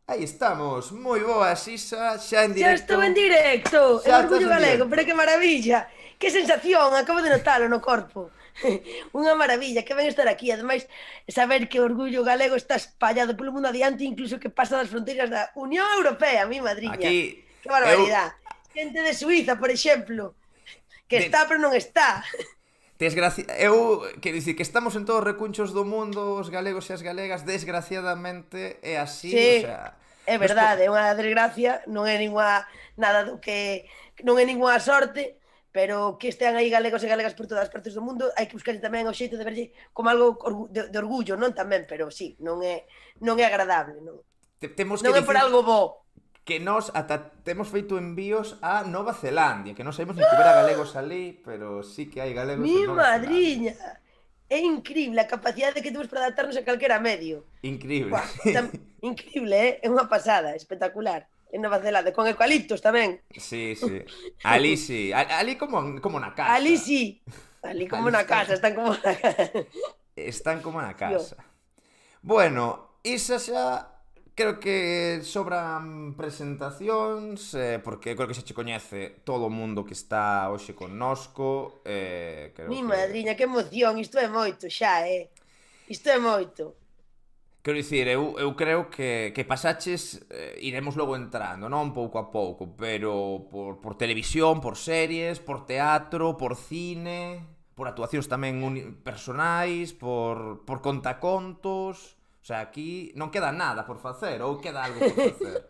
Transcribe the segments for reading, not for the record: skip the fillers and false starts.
Aí estamos, moi boas, Isa, xa en Xa directo. estou en directo, en Xa estás Orgullo en Galego, directo. pero que maravilla, que sensación, acabo de notalo no corpo. Unha maravilla, que ben estar aquí, ademais, saber que o Orgullo Galego está espallado polo mundo adiante, incluso que pasa das fronteiras da Unión Europea, mi madriña. Aquí, Que eu... barbaridade. Xente de Suiza, por exemplo, que está De, pero non está. quero dicir que estamos en todos os recunchos do mundo, os galegos e as galegas, desgraciadamente é así, o Sí, sea... é Nos po... verdade, é unha desgracia, non é ninguna nada do que non é ninguna sorte, pero que estean aí galegos e galegas por todas as partes do mundo, hai que buscar tamén o xeito de verlle como algo de orgullo, non tamén, pero sí, non é agradable, non. Temos que Non é por dicir algo bo. que nós ata temos feito envíos a Nova Zelandia, que non sabemos nin que hubiera galegos ali, pero sí que hai galegos Mi en Nova Zelandia. madriña. É increíble a capacidade que temos para adaptarnos a calquera medio. Increíble. Buah, increíble, é unha pasada, espectacular. En Nova Zelanda, con eucaliptos tamén. Sí, sí. Ali sí. Ali como na Ali casa. sí, ali como Ali na casa, están como na casa. están como na Tío. casa. Bueno, isa xa creo que sobran presentacións, porque creo que xa che coñece todo o mundo que está hoxe connosco, Mi creo que... madriña, que emoción, isto é moito xa, Isto é moito. Quero dicir, eu creo que pasaches, iremos logo entrando, non? Pouco a pouco, pero por televisión, por series, por teatro, por cine, por actuacións tamén personais, por contacontos... O sea, aquí non queda nada por facer, ou queda algo por facer.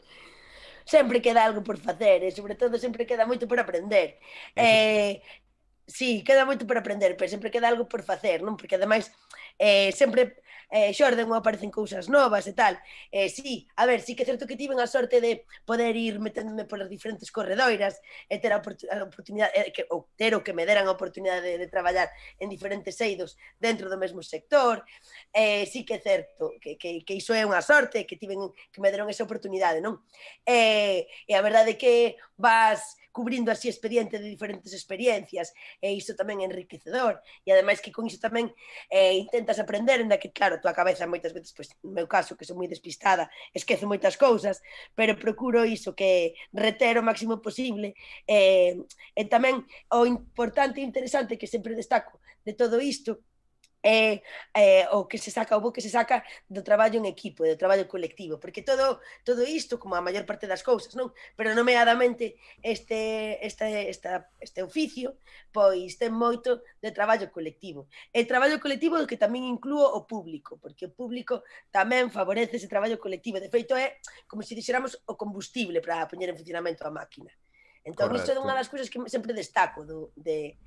Sempre queda algo por facer e sobre todo sempre queda moito por aprender. Eso... Sí, queda moito por aprender, pero sempre queda algo por facer, non? Porque ademais sempre xorden ou aparecen cousas novas e tal. Sí, a ver, sí que é certo que tiven a sorte de poder ir meténdome polas diferentes corredoiras e ter a oportunidade, ou ter o que me deran a oportunidade de traballar en diferentes eidos dentro do mesmo sector. Sí que é certo que iso é unha sorte, que me deron esa oportunidade, non? E a verdade é que vas cubrindo así expediente de diferentes experiencias e iso tamén é enriquecedor e ademais que con iso tamén intentas aprender, en que claro, a tua cabeza moitas veces, pois, no meu caso, que sou moi despistada, esquezo moitas cousas, pero procuro iso, que reter o máximo posible e tamén o importante e interesante que sempre destaco de todo isto o que se saca, o bo que se saca do traballo en equipo, do traballo colectivo, porque todo isto, como a maior parte das cousas, non? Pero nomeadamente este oficio, pois ten moito de traballo colectivo. E traballo colectivo que tamén inclúo o público, porque o público tamén favorece ese traballo colectivo. De feito, é como se dixéramos o combustible para poñer en funcionamento a máquina. Entón, isto é unha Correcto. das cousas que sempre destaco de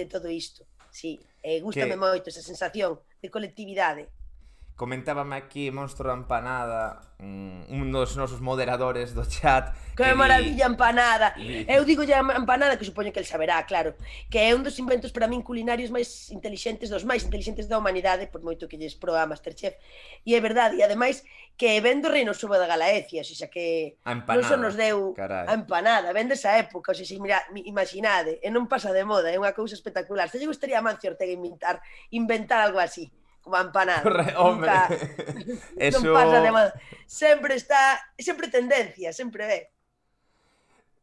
todo isto. Sí, gústame Que moito esa sensación de colectividade. comentábame aquí Monstro da Empanada, un dos nosos moderadores do chat, Que que maravilla empanada. di Eu digo ya empanada, que supoño que el saberá, claro, que é un dos inventos para min culinarios dos máis intelixentes da humanidade, por moito que lles proa Masterchef. E é verdade, e ademais que ven do reino subo da Galaecia, xa que a non só empanada, nos deu carai. a empanada, ven desa época, xa mira, imaginade, e non pasa de moda, é unha cousa espectacular. Se lle gustaría a Mancio Ortega inventar algo así, como a empanada. Hombre, Nunca, non pasa de eso... moda. Sempre tendencia, sempre é.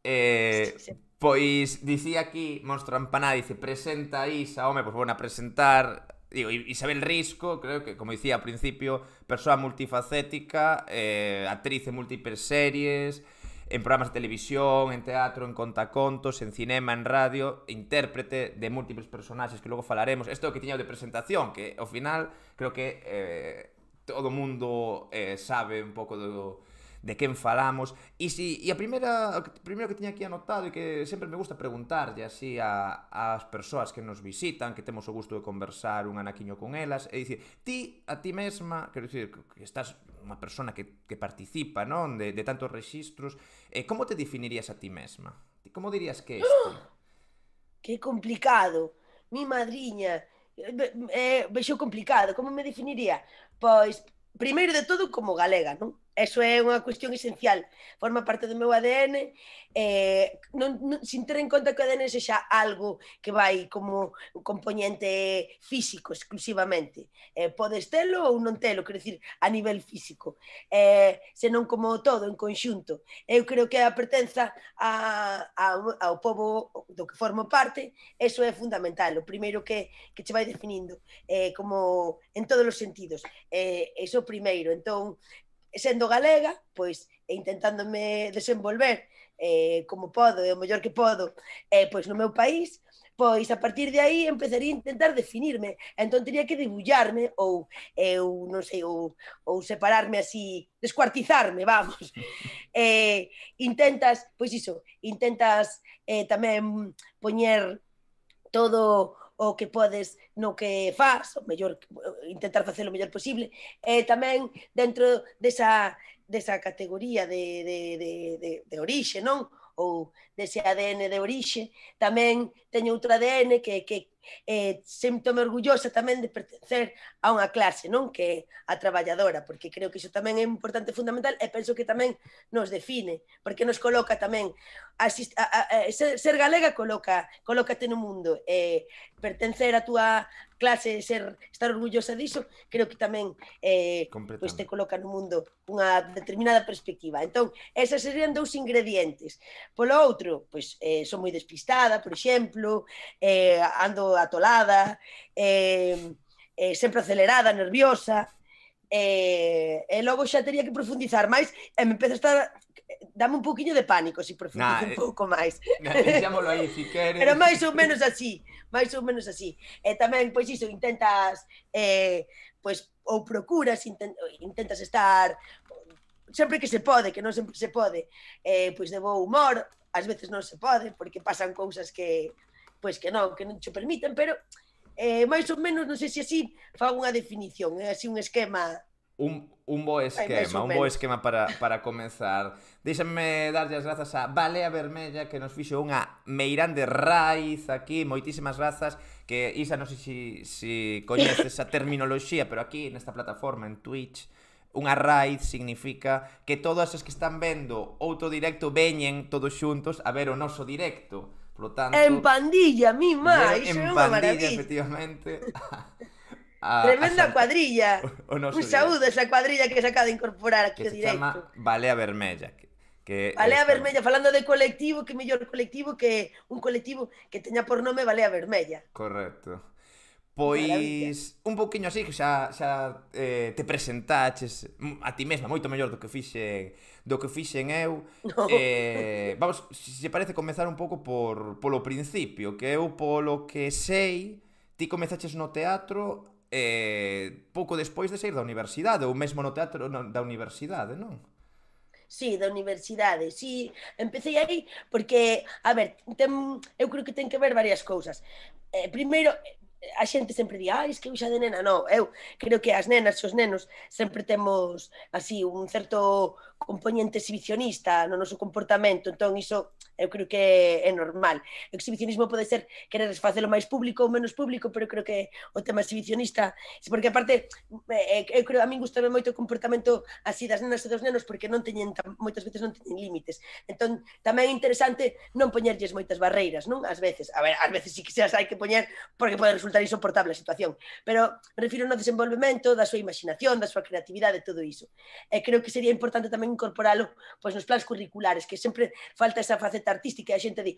Eh, Sí, sí. pois dicía aquí Monstro Empanada, dice, presenta a Isa, home, pois bueno, a presentar, digo, Isabel Risco, creo que, como dicía ao principio, persoa multifacética, actriz en múltiples series, en programas de televisión, en teatro, en contacontos, en cinema, en radio, intérprete de múltiples personaxes que logo falaremos. Isto é o que tiña de presentación, que ao final creo que todo o mundo sabe un pouco de quen falamos. E a primeiro que tiña aquí anotado e que sempre me gusta preguntarlle así ás persoas que nos visitan, que temos o gusto de conversar un anaquiño con elas, é dicir, a ti mesma, quero dicir, que estás unha persona que participa, non, de tantos rexistros, como te definirías a ti mesma? Como dirías que és ti? Que complicado. Mi madriña. Vexo complicado. Como me definiría? Pois, primeiro de todo, como galega, non? eso é unha cuestión esencial, forma parte do meu ADN, sin ter en conta que o ADN sexa algo que vai como un componente físico exclusivamente, podes telo ou non telo, quero dicir, a nivel físico, senón como todo en conxunto. Eu creo que a pertenza ao pobo do que formo parte, eso é fundamental, o primeiro que che vai definindo, como en todos os sentidos, eso primeiro. Entón, sendo galega, pois intentándome desenvolver como podo e o mellor que podo pois no meu país, pois a partir de aí empezaría a intentar definirme, entón teria que debullarme ou non sei, ou separarme así, descuartizarme, vamos. Intentas, pois iso, intentas tamén poñer todo o que podes no que faz, o mellor, intentar facer o mellor posible, e tamén dentro desa categoría de orixe, non? Ou dese ADN de orixe, tamén teño outro ADN que sinto-me orgullosa tamén de pertencer a unha clase, non? Que é a traballadora, porque creo que iso tamén é importante, fundamental, e penso que tamén nos define, porque nos coloca tamén ser galega colócate no mundo, pertencer a túa clase, estar orgullosa diso, creo que tamén pois te coloca no mundo unha determinada perspectiva. Entón, esas serían dous ingredientes. Polo outro, pois son moi despistada, por exemplo, ando atolada, sempre acelerada, nerviosa, e logo xa teria que profundizar máis, e me empeza a estar... Dame un pouquiño de pánico se profundizo un pouco máis. Deixámoslo aí, si queres. Pero máis ou menos así, máis ou menos así. E tamén, pois iso, intentas, pois, ou procuras, intentas estar sempre que se pode, que non sempre se pode, pois de bo humor, ás veces non se pode, porque pasan cousas que, pois que non te permiten, pero máis ou menos, non sei se así fago unha definición, é así un esquema... Un bo esquema para comenzar. Déxame darlle as grazas a Balea Vermella, que nos fixo unha meirande raíz aquí, moitísimas grazas, que Isa, non sei se coñeces esa terminoloxía, pero aquí nesta plataforma, en Twitch, unha raíz significa que todas as que están vendo outro directo veñen todos xuntos a ver o noso directo. Por lo tanto, en pandilla, mi má, iso é unha maravilla. Efectivamente. Tremenda cuadrilla. Un saúdo a esa cuadrilla que se acaba de incorporar aquí ao directo. Que se chama Balea Vermella. Balea Vermella, falando de colectivo, que mellor colectivo que un colectivo que teña por nome Balea Vermella. Correcto. Pois, un pouquiño así, que xa te presentaches a ti mesma, moito mellor do que fixen eu. No. Vamos, se parece comezar un pouco polo principio, que eu polo que sei, ti comezaches no teatro pouco despois de sair da universidade, ou mesmo no teatro da universidade, non? Sí, da universidade, sí, empecé aí porque, a ver, eu creo que ten que ver varias cousas. Primeiro, a xente sempre di, es que eu xa de nena, non, eu creo que as nenas, os nenos, sempre temos así un certo componente exhibicionista no noso comportamento, entón iso eu creo que é normal. O exhibicionismo pode ser querer facelo máis público ou menos público, pero creo que o tema exhibicionista, porque aparte eu creo, a min gustame moito o comportamento así das nenas e dos nenos, porque non teñen, moitas veces non teñen límites, entón tamén é interesante non poñerlles moitas barreiras, non? Ás veces, a ver, ás veces sí que se as hai que poñer porque pode resultar insoportable a situación, pero me refiro no desenvolvemento da súa imaginación, da súa creatividade, todo iso. E creo que sería importante tamén incorporalo pois nos plans curriculares, que sempre falta esa faceta artística e a xente di,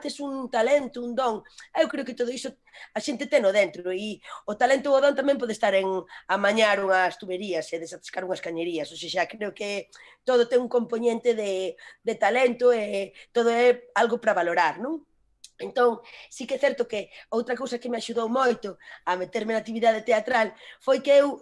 tes un talento, un don. Eu creo que todo iso a xente teno dentro, e o talento ou o don tamén pode estar en amañar unhas tuberías e desatascar unhas cañerías, ou seja, creo que todo ten un componente de talento e todo é algo para valorar, non? Entón, sí que é certo que outra cousa que me axudou moito a meterme na actividade teatral foi que eu,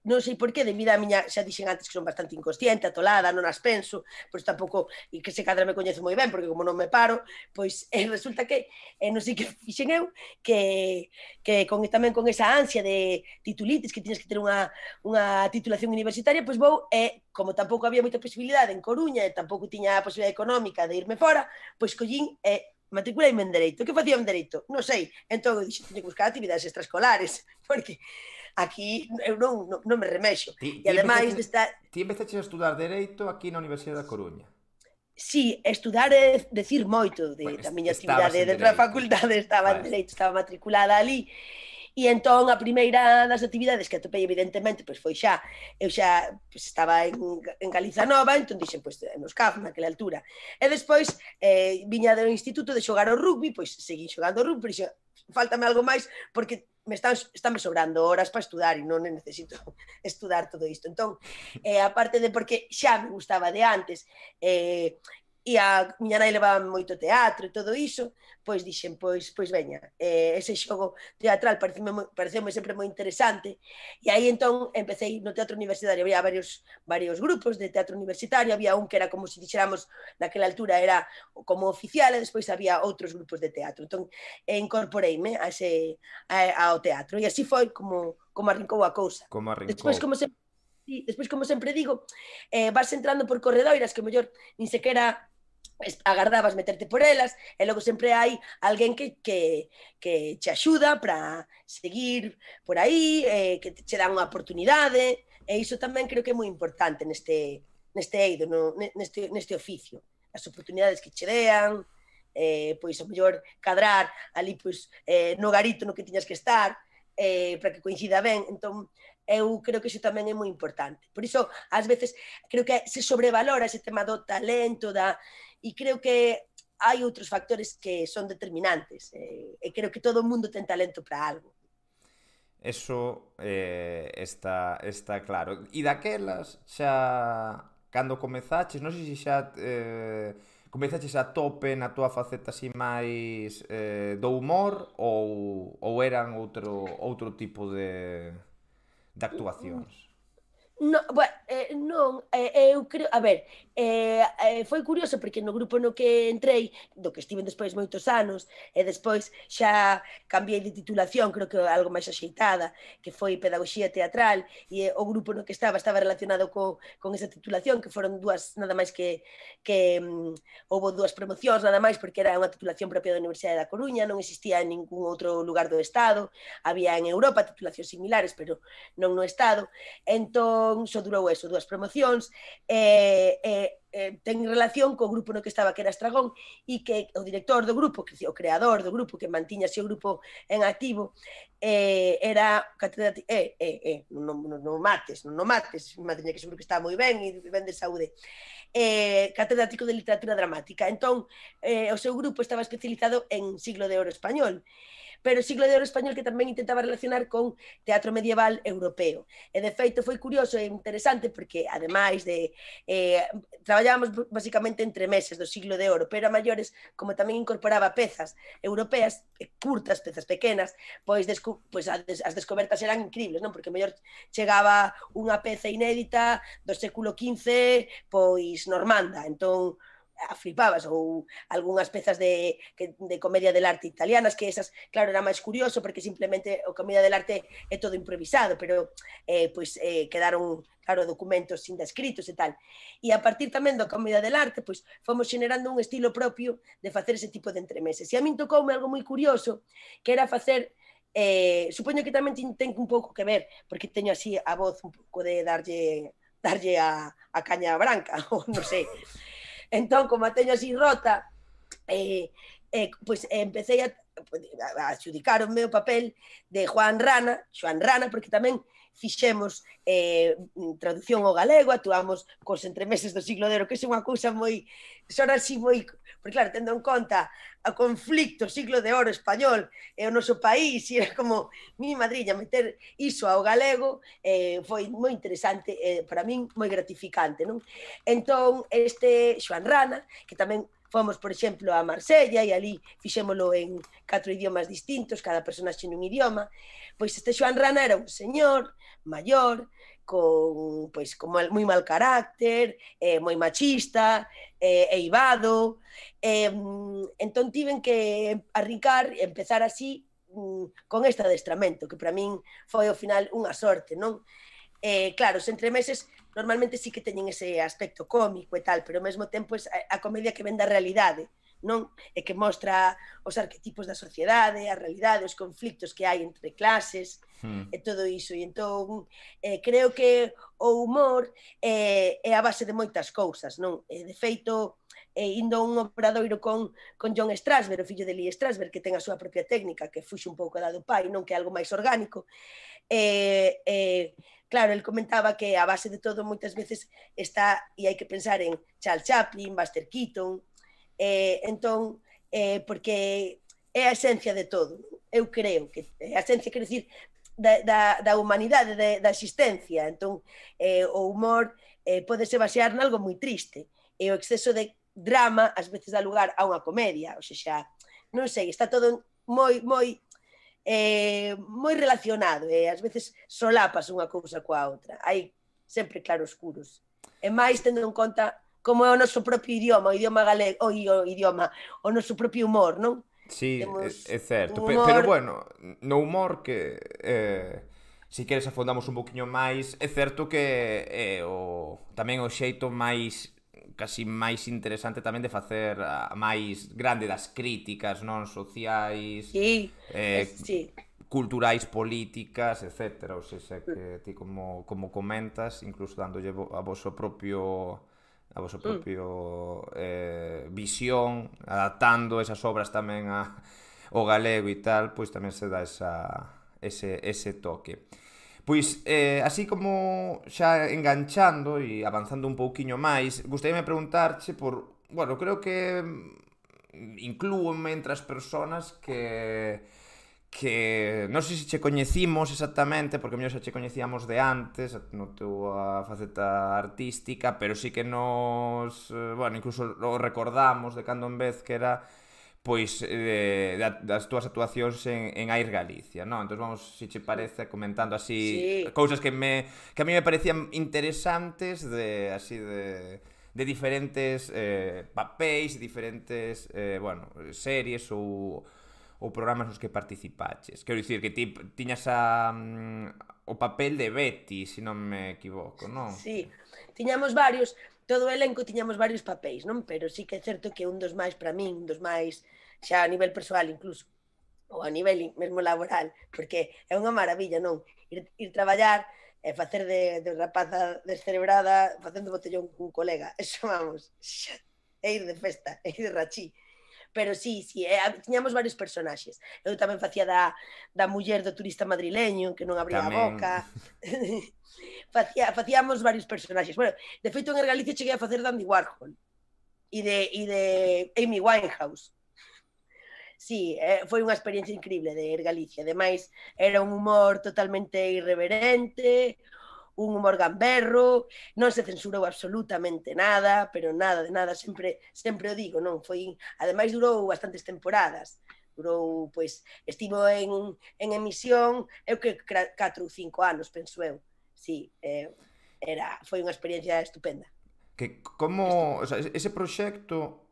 non sei por qué, debido a miña, xa dixen antes que son bastante inconsciente, atolada, non as penso, pois tampouco, e que se cadra me coñezo moi ben, porque como non me paro, pois resulta que, non sei que fixen eu, que tamén con esa ansia de titulitis, que tiñes que ter unha titulación universitaria, pois vou, como tampouco había moita posibilidade en Coruña, e tampouco tiña a posibilidade económica de irme fora, pois collín matriculaime en Dereito. Que facía en Dereito? Non sei. Entón, eu dixo, teño que buscar actividades extraescolares, porque aquí eu non me remexo. Ti, E ti, ademais empezaches, de estar... ti empezaches a estudar Dereito aquí na Universidade da Coruña. Sí, estudar é decir moito da miña Estabas actividade en dentro da Dereito. facultade, estaba en Vale. Dereito, estaba matriculada ali. E entón a primeira das actividades que atopei evidentemente pois foi xa, eu xa pois, estaba en Galiza Nova, entón dixen pois nos CAF naquela altura. E despois viña do instituto de xogar ao rugby, pois seguí xogando ao rugby, pero faltame algo máis porque estánme sobrando horas para estudar e non necesito estudar todo isto. Entón, aparte de porque xa me gustaba de antes, e a miña nai levaba moito teatro e todo iso, pois dixen, pois veña, ese xogo teatral pareceume sempre moi interesante, e aí entón empecé no teatro universitario, había varios grupos de teatro universitario, había un que era como se dixéramos naquela altura era como oficial, e despois había outros grupos de teatro, entón incorporeime ao teatro, e así foi como arrincou a cousa. Como Despois, arrincou. como sempre digo, vas entrando por corredoiras que mellor nin sequera agardabas meterte por elas, e logo sempre hai alguén que te axuda para seguir por aí, que te dá unha oportunidade, e iso tamén creo que é moi importante neste eido, neste oficio, as oportunidades que che dean, pois a mellor cadrar ali pois, no garito no que tiñas que estar, para que coincida ben, entón eu creo que iso tamén é moi importante. Por iso, ás veces, creo que se sobrevalora ese tema do talento, e creo que hai outros factores que son determinantes, e creo que todo o mundo ten talento para algo. Eso está claro. E daquelas, xa, cando comezaches, non sei se xa comezaches a tope na túa faceta así máis do humor ou eran outro tipo de actuacións? Non, eu creo, a ver, foi curioso porque no grupo no que entrei, do que estiven despois moitos anos, e despois xa cambiei de titulación, creo que algo máis axeitada, que foi Pedagogía Teatral, e o grupo no que estaba relacionado con esa titulación, que foron dúas, nada máis que houve dúas promocións, nada máis, porque era unha titulación propia da Universidade da Coruña, non existía en ningún outro lugar do Estado, había en Europa titulacións similares, pero non no Estado, entón só durou eso, dúas promocións, ten relación co grupo no que estaba, que era Estragón, e que o director do grupo, o creador do grupo, que mantiñase o grupo en activo, era catedrático, non mates, madriña, que seguro que está moi ben e ben de saúde, catedrático de literatura dramática. Entón, o seu grupo estaba especializado en siglo de ouro español, pero siglo de ouro español que tamén intentaba relacionar con teatro medieval europeo. E de feito foi curioso e interesante porque, ademais de traballábamos basicamente entre meses do siglo de ouro, pero a maiores, como tamén incorporaba pezas europeas, curtas, pezas pequenas, pois as descobertas eran increíbles, non? Porque mellor chegaba unha peza inédita do século XV, pois normanda, entón flipabas, ou algunhas pezas de comedia del arte italianas, que esas, claro, era máis curioso porque simplemente o comedia del arte é todo improvisado, pero quedaron, claro, documentos sin descritos e tal. E a partir tamén do comedia del arte, pois fomos generando un estilo propio de facer ese tipo de entremeses. E a min tocoume algo moi curioso, que era facer supoño que tamén ten un pouco que ver, porque teño así a voz un pouco de darlle a caña branca, ou non sei. Entón, como a teño así rota, pois empecé a adxudicaronme o papel de Xoán Rana, porque tamén fixemos traducción ao galego, actuamos cos entremeses do siglo de ouro, que é unha cousa moi, son así moi, porque claro, tendo en conta o conflicto siglo de ouro español e o noso país, e era como mi madriña meter iso ao galego, foi moi interesante, para min moi gratificante, non? Entón, este Xoán Rana, que tamén fomos, por exemplo, a Marsella e ali fixémolo en 4 idiomas distintos, cada personaxe nun idioma, pois este Xoán Rana era un señor maior, con moi mal carácter, moi machista, eivado, entón tiven que arrincar e empezar así con este adestramento, que para min foi ao final unha sorte, non? Claro, os entremeses normalmente sí que teñen ese aspecto cómico e tal, pero ao mesmo tempo a comedia que ven da realidade, non? E que mostra os arquetipos da sociedade, a realidade, os conflictos que hai entre clases, e todo iso. E entón, creo que o humor é a base de moitas cousas, non? De feito, indo a un obradoiro con John Strasberg, o fillo de Lee Strasberg, que ten a súa propia técnica, que fuxe un pouco da do pai, non? Que é algo máis orgánico. Claro, el comentaba que a base de todo moitas veces está, e hai que pensar en Charles Chaplin, Buster Keaton, entón, porque é a esencia de todo. Eu creo que a esencia, quero dicir, da humanidade, da existencia. Entón, o humor podese basear nalgo moi triste, e o exceso de drama ás veces dá lugar a unha comedia, ou seja, non sei, está todo moi relacionado, e ás veces solapas unha cousa coa outra. Hai sempre claroscuros. E máis tendo en conta como é o noso propio idioma, o idioma galego, o noso propio humor, non? Sí, Temos é certo, un pero humor... bueno, no humor que si queres afondamos un poquinho máis, é certo que tamén o xeito máis casi máis interesante tamén de facer a máis grande das críticas, non, sociais, Sí, sí. culturais, políticas, etcétera. Ou seja, que ti como comentas, incluso dándolle a voso propio visión, adaptando esas obras tamén ao galego e tal, pois tamén se dá ese toque. Pois, así como xa enganchando e avanzando un pouquiño máis, gustaríame preguntarche por... Bueno, creo que inclúome entre as persoas que non sei se che coñecimos exactamente, porque mellor xa che coñecíamos de antes, no túa faceta artística, pero sí que nos, bueno, incluso o recordamos de cando en vez que era pois das túas actuacións en Air Galicia, non? Entón vamos, se che parece, comentando así Sí, cousas que a mí me parecían interesantes de diferentes papéis, diferentes, bueno, series ou programas nos que participaches. Quero dicir que ti tiñas o papel de Betty, se non me equivoco, non? sí. Tiñamos varios, todo o elenco tiñamos varios papéis, non? Pero sí que é certo que un dos máis para min, un dos máis xa a nivel persoal incluso, ou a nivel mesmo laboral, porque é unha maravilla, non? Ir traballar e facer de rapaza descerebrada facendo botellón cun colega. Eso, vamos, é ir de festa, é ir de rachí. Pero sí, tiñamos varios personaxes. Eu tamén facía da muller do turista madrileño, que non abría a Tamén... boca. Facíamos varios personaxes. Bueno, de feito, en Galicia cheguei a facer de Andy Warhol e de Amy Winehouse. Sí, foi unha experiencia increíble de ir Galicia. Ademais, era un humor totalmente irreverente, un humor gamberro, non se censurou absolutamente nada, pero nada de nada, sempre o digo, non? Ademais durou bastantes temporadas. Durou, pois, estivo en emisión, eu que 4 ou 5 anos, penso eu. Sí, foi unha experiencia estupenda. Que como, o sea, ese proxecto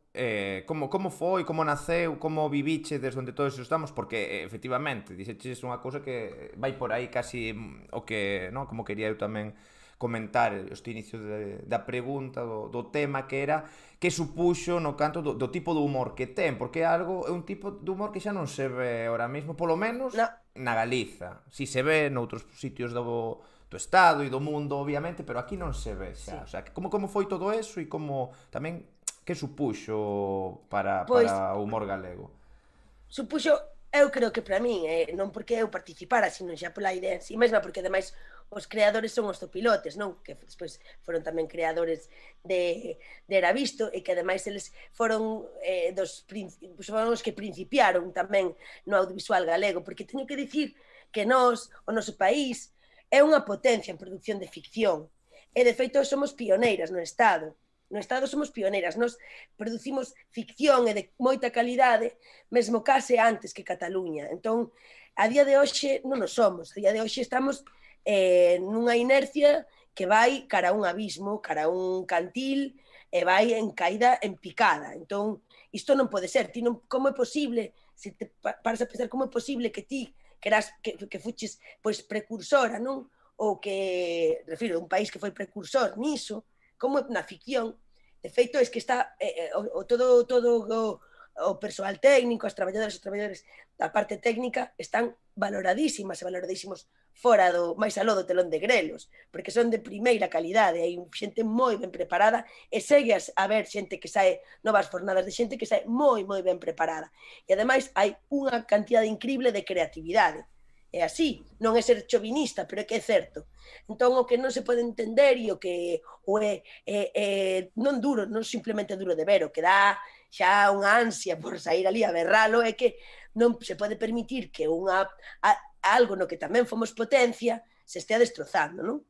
como foi, como naceu, como viviche desde onde todos estamos, porque efectivamente, dixeches unha cousa que vai por aí casi o que, non, como quería eu tamén comentar este inicio da pregunta do tema que era que supuxo no canto do tipo de humor que ten, porque é un tipo de humor que xa non se ve ahora mesmo, polo menos No. na Galiza. Si se ve noutros sitios do Estado e do mundo, obviamente, pero aquí non se ve xa. Sí. O sea, como foi todo eso e como tamén que supuxo para o humor galego? Supuxo, eu creo que para min, non porque eu participara, sino xa pola idea en si mesma, porque ademais os creadores son os zopilotes, non? Que despois foron tamén creadores de Era Visto, e que ademais eles foron foron os que principiaron tamén no audiovisual galego, porque teño que dicir que o noso país, é unha potencia en produción de ficción, e de feito somos pioneiras no Estado. No Estado somos pioneiras, nos producimos ficción e de moita calidade, mesmo case antes que Cataluña. Entón, a día de hoxe non nos somos, a día de hoxe estamos nunha inercia que vai cara a un abismo, cara a un cantil, e vai en caída en picada. Entón, isto non pode ser. Como é posible, se te paras a pensar, como é posible que ti que fuches pois precursora, non? Ou que, refiro, un país que foi precursor niso, como na ficción, de feito, é que está todo o persoal técnico, as traballadoras e os traballadores da parte técnica están valoradísimas e valoradísimos fora do máis aló do telón de grelos, porque son de primeira calidade, hai xente moi ben preparada e segue a ver xente que sae novas fornadas de xente que sae moi ben preparada. E ademais hai unha cantidade increíble de creatividade. É así, non é ser chovinista, pero é que é certo. Entón, o que non se pode entender e o que non duro, non simplemente duro de ver, o que dá xa unha ansia por sair ali a berralo é que non se pode permitir que algo no que tamén fomos potencia se estea destrozando, non?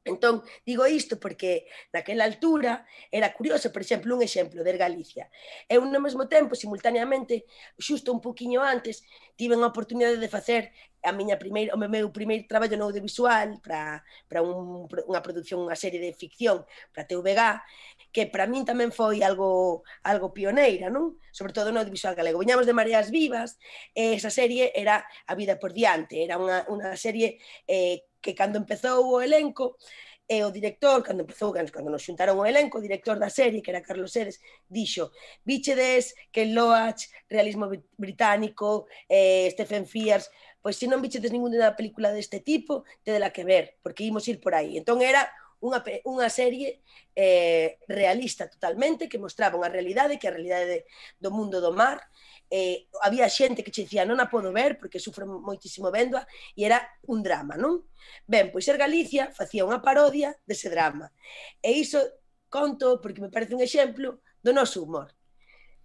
Entón, digo isto porque naquela altura era curioso, por exemplo, un exemplo de Galicia. Eu, no mesmo tempo, simultaneamente, xusto un poquinho antes, tive a oportunidade de facer o meu primeiro traballo no audiovisual para unha produción, unha serie de ficción para TVG, que para min tamén foi algo pioneira, non? Sobre todo no audiovisual galego. Viñamos de Mareas Vivas, e esa serie era A Vida por Diante, era unha serie que cando empezou o elenco, o director, cando nos xuntaron o elenco, o director da serie, que era Carlos Seres, dixo: "Víchedes Ken Loach, realismo británico, Stephen Frears, pois se non víchedes ninguna película deste tipo, tedela que ver, porque imos ir por aí". Entón era unha serie realista totalmente, que mostraba unha realidade, que a realidade do mundo do mar. Había xente que che dicía non a podo ver porque sufro moitísimo véndoa, e era un drama, non? Ben, pois Ser Galicia facía unha parodia dese drama, e iso conto porque me parece un exemplo do noso humor.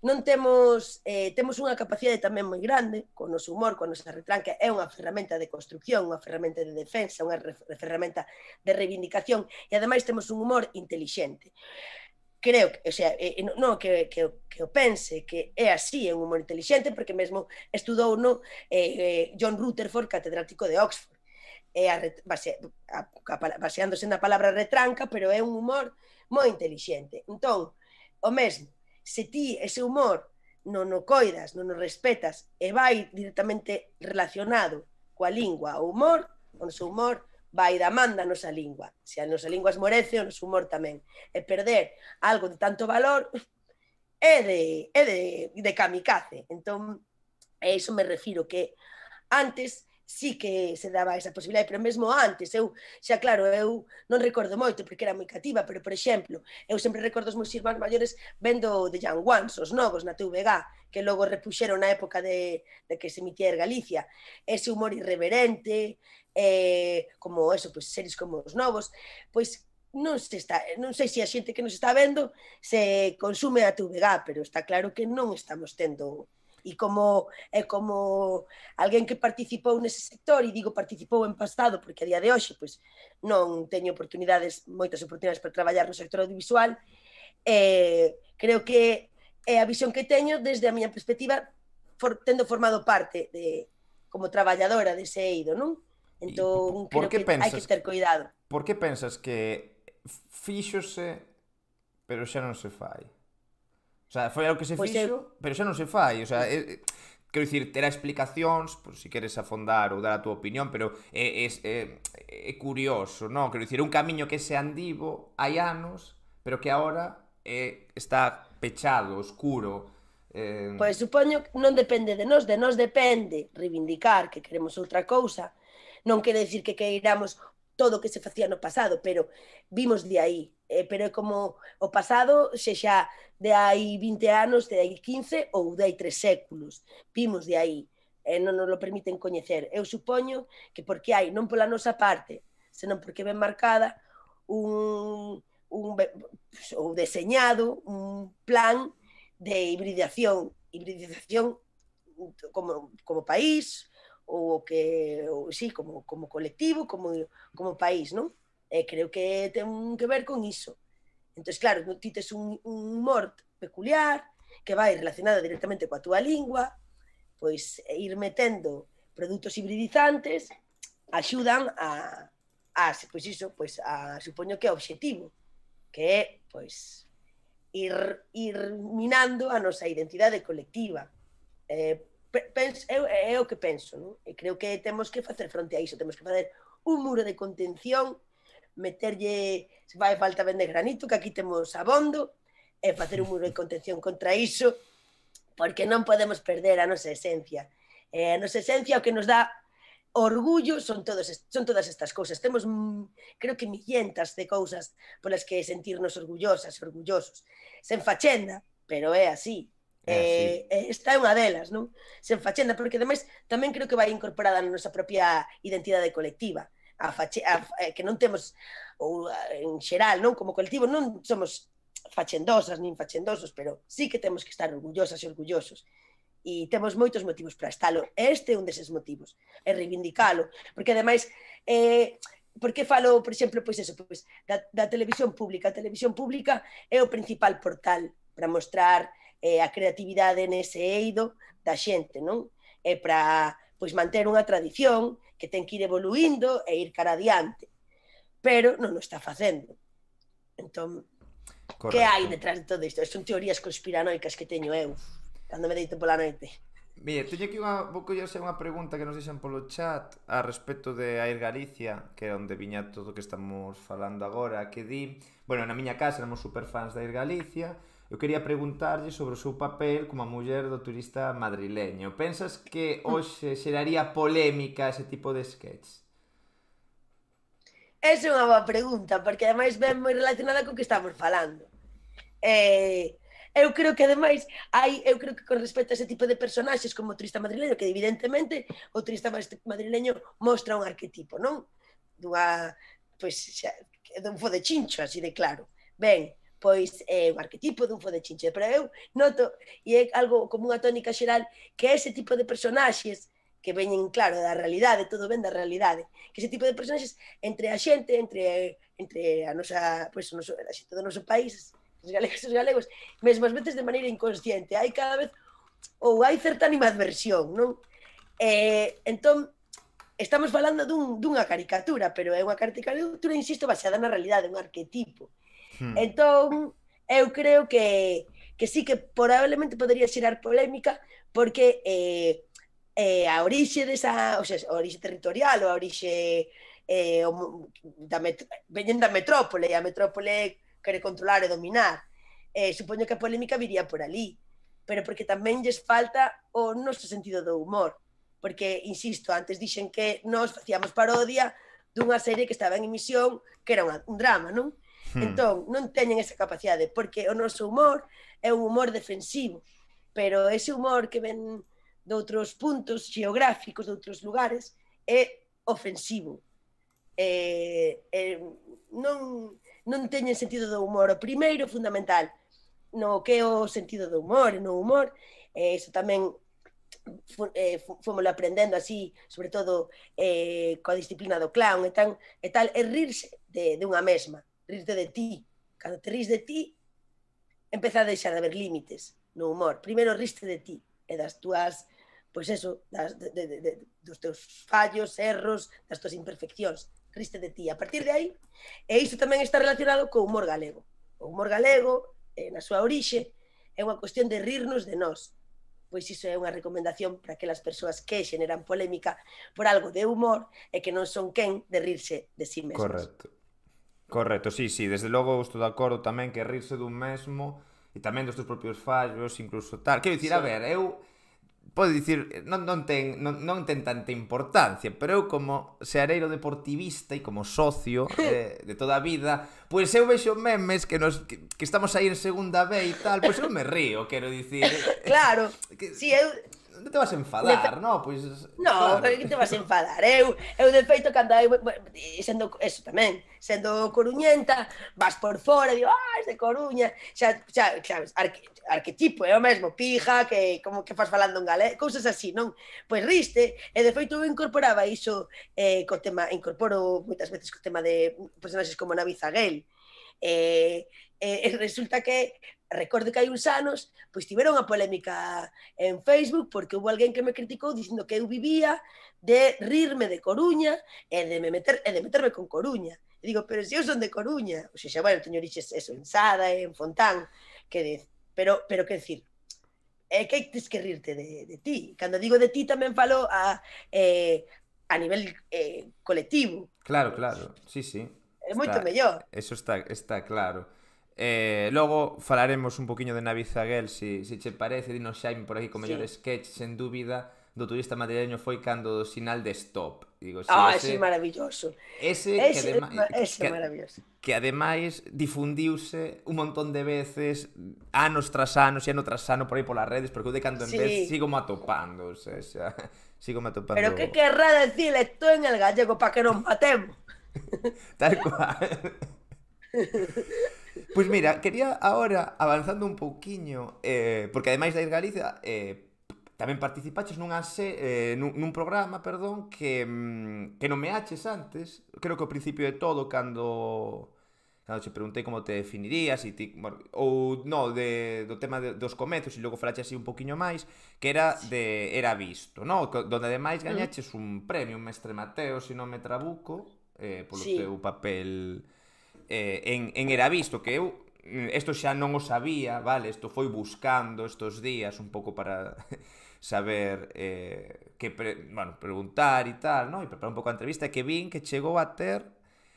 Non temos unha capacidade tamén moi grande co noso humor, coa nosa retranca, é unha ferramenta de construcción, unha ferramenta de defensa, unha ferramenta de reivindicación, e ademais temos un humor intelixente. Creo, o sea, non que o pense, que é así, é un humor intelixente, porque mesmo estudou no John Rutherford, catedrático de Oxford, baseándose na palabra retranca, pero é un humor moi intelixente. Entón, o mesmo, se ti ese humor non o coidas, non o respetas e vai directamente relacionado coa lingua, o humor, o noso humor vai da man da nosa lingua. Se a nosa lingua esmorece, o noso humor tamén. E perder algo de tanto valor é de kamikaze. Entón, a iso me refiro, que antes sí que se daba esa posibilidade, pero mesmo antes, xa claro, eu non recordo moito porque era moi cativa, pero, por exemplo, eu sempre recordo os meus irmáns maiores vendo The Young Ones, os novos na TVG, que logo repuxeron na época de que se emitía en Galicia, ese humor irreverente, como eso, pois series como os novos, pois non sei se a xente que nos está vendo se consume a TVG, pero está claro que non estamos tendo. E como alguén que participou nese sector, e digo participou en pasado porque a día de hoxe pois non teño moitas oportunidades para traballar no sector audiovisual, creo que é a visión que teño desde a miña perspectiva, tendo formado parte como traballadora dese eido, non? Entón, creo que hai que ter cuidado. Por que pensas que fíxose, pero xa non se fai? O sea, foi algo que se fixo, pero xa non se fai. O sea, quero dicir, terá explicacións, por si queres afondar ou dar a túa opinión, pero é curioso, non? Quero dicir, un camiño que se andivo hai anos, pero que agora está pechado, oscuro. Pois supoño que non depende de nós depende reivindicar que queremos outra cousa. Non quere dicir que queiramos todo o que se facía no pasado, pero vimos de aí. Pero é como o pasado, sexa de hai 20 anos, de hai 15 ou de hai 3 séculos. Vimos de aí. Non nos lo permiten coñecer. Eu supoño que porque hai, non pola nosa parte, senón porque ben marcada, ou deseñado un plan de hibridación como país, ou sí, como colectivo, como país, non? Creo que ten que ver con iso. Entón, claro, ti tes un humor peculiar que vai relacionado directamente coa túa lingua, pois ir metendo produtos hibridizantes axudan pois iso, pois supoño que é o obxectivo, que é, pois, ir minando a nosa identidade colectiva. É o que penso, non? E creo que temos que facer fronte a iso, temos que facer un muro de contención, meterlle, se fai falta vender granito, que aquí temos abondo, e facer un muro de contención contra iso, porque non podemos perder a nosa esencia. A nosa esencia o que nos dá orgullo son todas estas cousas. Temos, creo que millentas de cousas polas que sentirnos orgullosas e orgullosos. Sen fachenda, pero é así. así. Esta é unha delas, non? Sen fachenda, porque ademais tamén creo que vai incorporada na nosa propia identidade colectiva. Que non temos, ou en xeral, non? Como colectivo non somos fachendosas nin fachendosos, pero sí que temos que estar orgullosas e orgullosos. E temos moitos motivos para estalo. Este é un deses motivos. É reivindicalo. Porque, ademais, por que falo, por exemplo, pois eso, pois, da televisión pública. A televisión pública é o principal portal para mostrar a creatividade nese eido da xente, non? É para pois, manter unha tradición que ten que ir evoluindo e ir cara adiante. Pero non o está facendo. Entón, que hai detrás de todo isto? Son teorías conspiranoicas que teño eu cando me deito pola noite. Mire, teño aquí unha pregunta que nos deixan polo chat a respecto de Air Galicia, que é onde viña todo o que estamos falando agora, que di, bueno, na miña casa éramos superfans de Air Galicia. Eu quería preguntarlle sobre o seu papel como a muller do turista madrileño. Pensas que hoxe xeraría polémica ese tipo de sketch? Esa é unha boa pregunta, porque ademais ven moi relacionada co que estamos falando. Eu creo que ademais eu creo que con respecto a ese tipo de personaxes como o turista madrileño, que evidentemente o turista madrileño mostra un arquetipo, non? Dunha, pois, dun fo de chincho, así de claro. Ben, pois é un arquetipo dun fo de chincho, pero eu noto, e é algo como unha tónica xeral, que ese tipo de personaxes que veñen, claro, da realidade, todo ven da realidade, que ese tipo de personaxes entre a xente, entre a nosa, pois, a xente do noso país, os galegos, mesmo ás veces de maneira inconsciente, hai cada vez, ou hai certa animadversión, non? Entón, estamos falando dunha caricatura, pero é unha caricatura, insisto, baseada na realidade, un arquetipo. Entón, eu creo que sí que probablemente podería xerar polémica, porque a orixe desa, o sea, a orixe territorial ou a orixe veñen da metrópole, e a metrópole quere controlar e dominar. Supoño que a polémica viría por ali, pero porque tamén lles falta o noso sentido do humor, porque, insisto, antes dixen que nós facíamos parodia dunha serie que estaba en emisión, que era un drama, non? Entón, non teñen esa capacidade, porque o noso humor é un humor defensivo, pero ese humor que ven de outros puntos geográficos, de outros lugares, é ofensivo. Non teñen sentido do humor. O primeiro, fundamental, no que é o sentido do humor, e no humor, iso tamén fomos aprendendo así, sobre todo coa disciplina do clown e tal, é rirse de unha mesma, rirte de ti. Cando te ris de ti, empeza a deixar de haber límites no humor. Primeiro riste de ti e das túas, pois eso, dos teus fallos, erros, das túas imperfeccións. Riste de ti. A partir de aí, e iso tamén está relacionado co humor galego. O humor galego, na súa orixe, é unha cuestión de rirnos de nós. Pois iso é unha recomendación para aquelas persoas que xeneran polémica por algo de humor e que non son quen de rirse de si mesmas. Correcto, sí, desde logo estou de acordo tamén que rirse dun mesmo e tamén dos teus propios fallos, incluso tal. Quero dicir, a ver, eu pode dicir, non ten tanta importancia, pero eu como seareiro deportivista e como socio de toda a vida, pois eu vexo memes que estamos aí en segunda B e tal, pois eu me río, quero dicir. Claro, si eu... Non te vas a enfadar, non? Pois... Non, claro. Que te vas a enfadar? Eu de feito, cando sendo, eso tamén, sendo coruñenta, vas por fora, digo, es de Coruña, xa arquetipo, é o mesmo, pija, que como que faz falando en galego, cousas así, non? Pois riste, e de feito eu incorporaba iso co tema, incorporo moitas veces co tema de personaxes como Navi Zaguel, resulta que recordo que hai uns anos pois tiveron unha polémica en Facebook porque houve alguén que me criticou dicindo que eu vivía de rirme de Coruña e de meterme con Coruña. E digo, pero se eu son de Coruña, o sea, bueno, teño orixes eso, en Sada, en Fontán, pero que decir, que hai que rirte de ti. Cando digo de ti tamén falo a nivel colectivo. Claro, sí. É moito mellor. Eso está claro. Logo falaremos un poquinho de Navi Zaguel, se che parece, dinos Xaime por aquí co mellor sketch, sen dúbida, do turista madrileño foi cando o sinal de stop. Digo, si, Ese é maravilloso. ese Ese é maravilloso. que ademais difundiuse un montón de veces, anos tras anos e ano tras ano por aí polas redes, porque eu de cando en vez sigo me atopando, o sea, sigo me atopando. Pero que querrá decir esto en el gallego para que nos matemos? Tal cual. Pois mira, quería agora, avanzando un pouquiño, porque ademais de ir Galicia, tamén participaches nun programa, perdón, que nomeaches antes, creo que ao principio de todo, cando che preguntei como te definirías, e ti, bueno, ou no, do tema dos comezos, e logo falaches así un poquiño máis, que era de Era Visto, no? Donde ademais gañaches un premio, un Mestre Mateo, se non me trabuco, polo teu papel en Era Visto, que eu isto xa non o sabía, vale, isto foi buscando estos días un pouco para saber bueno, preguntar e tal, no? E preparar un pouco a entrevista, que vin que chegou a ter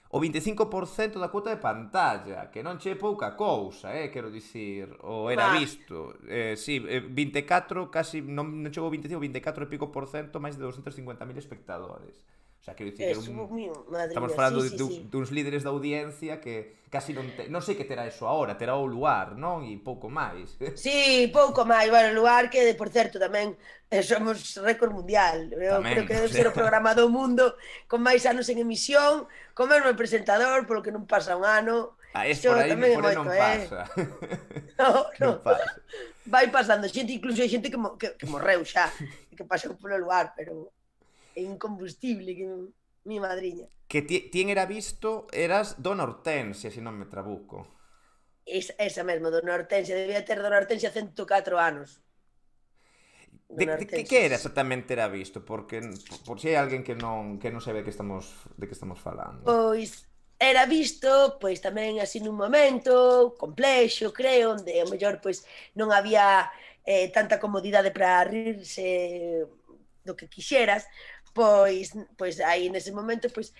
o 25% da cuota de pantalla, que non che pouca cousa, quero dicir, o Era Visto. Sí, 24, casi, non chegou 25, 24 e pico por cento, máis de 250.000 espectadores. O sea, quero dicir, estamos falando duns líderes da audiencia que casi non sei que terá eso agora, terá o Luar, non? E pouco máis. Sí, pouco máis. Bueno, o Luar, que, por certo, tamén somos récord mundial. Eu creo que debe ser o programa do mundo con máis anos en emisión, con mesmo presentador, polo que non pasa un ano. Por aí non pasa. Non pasa. Vai pasando xente, incluso hai xente que morreu xa, que pasou polo Luar, pero incombustible, que mi madriña. Que ti en Era Visto eras Dona Hortensia, se non me trabuco. Esa mesmo, Dona Hortensia. Debía ter Dona Hortensia 104 anos. Que era exactamente Era Visto? Porque por si hai alguén que non sabe de que estamos falando. Pois Era Visto, pois tamén así nun momento complexo, creo, onde ao mellor pois non había tanta comodidade para rirse do que quixeras. Pois aí nese momento pois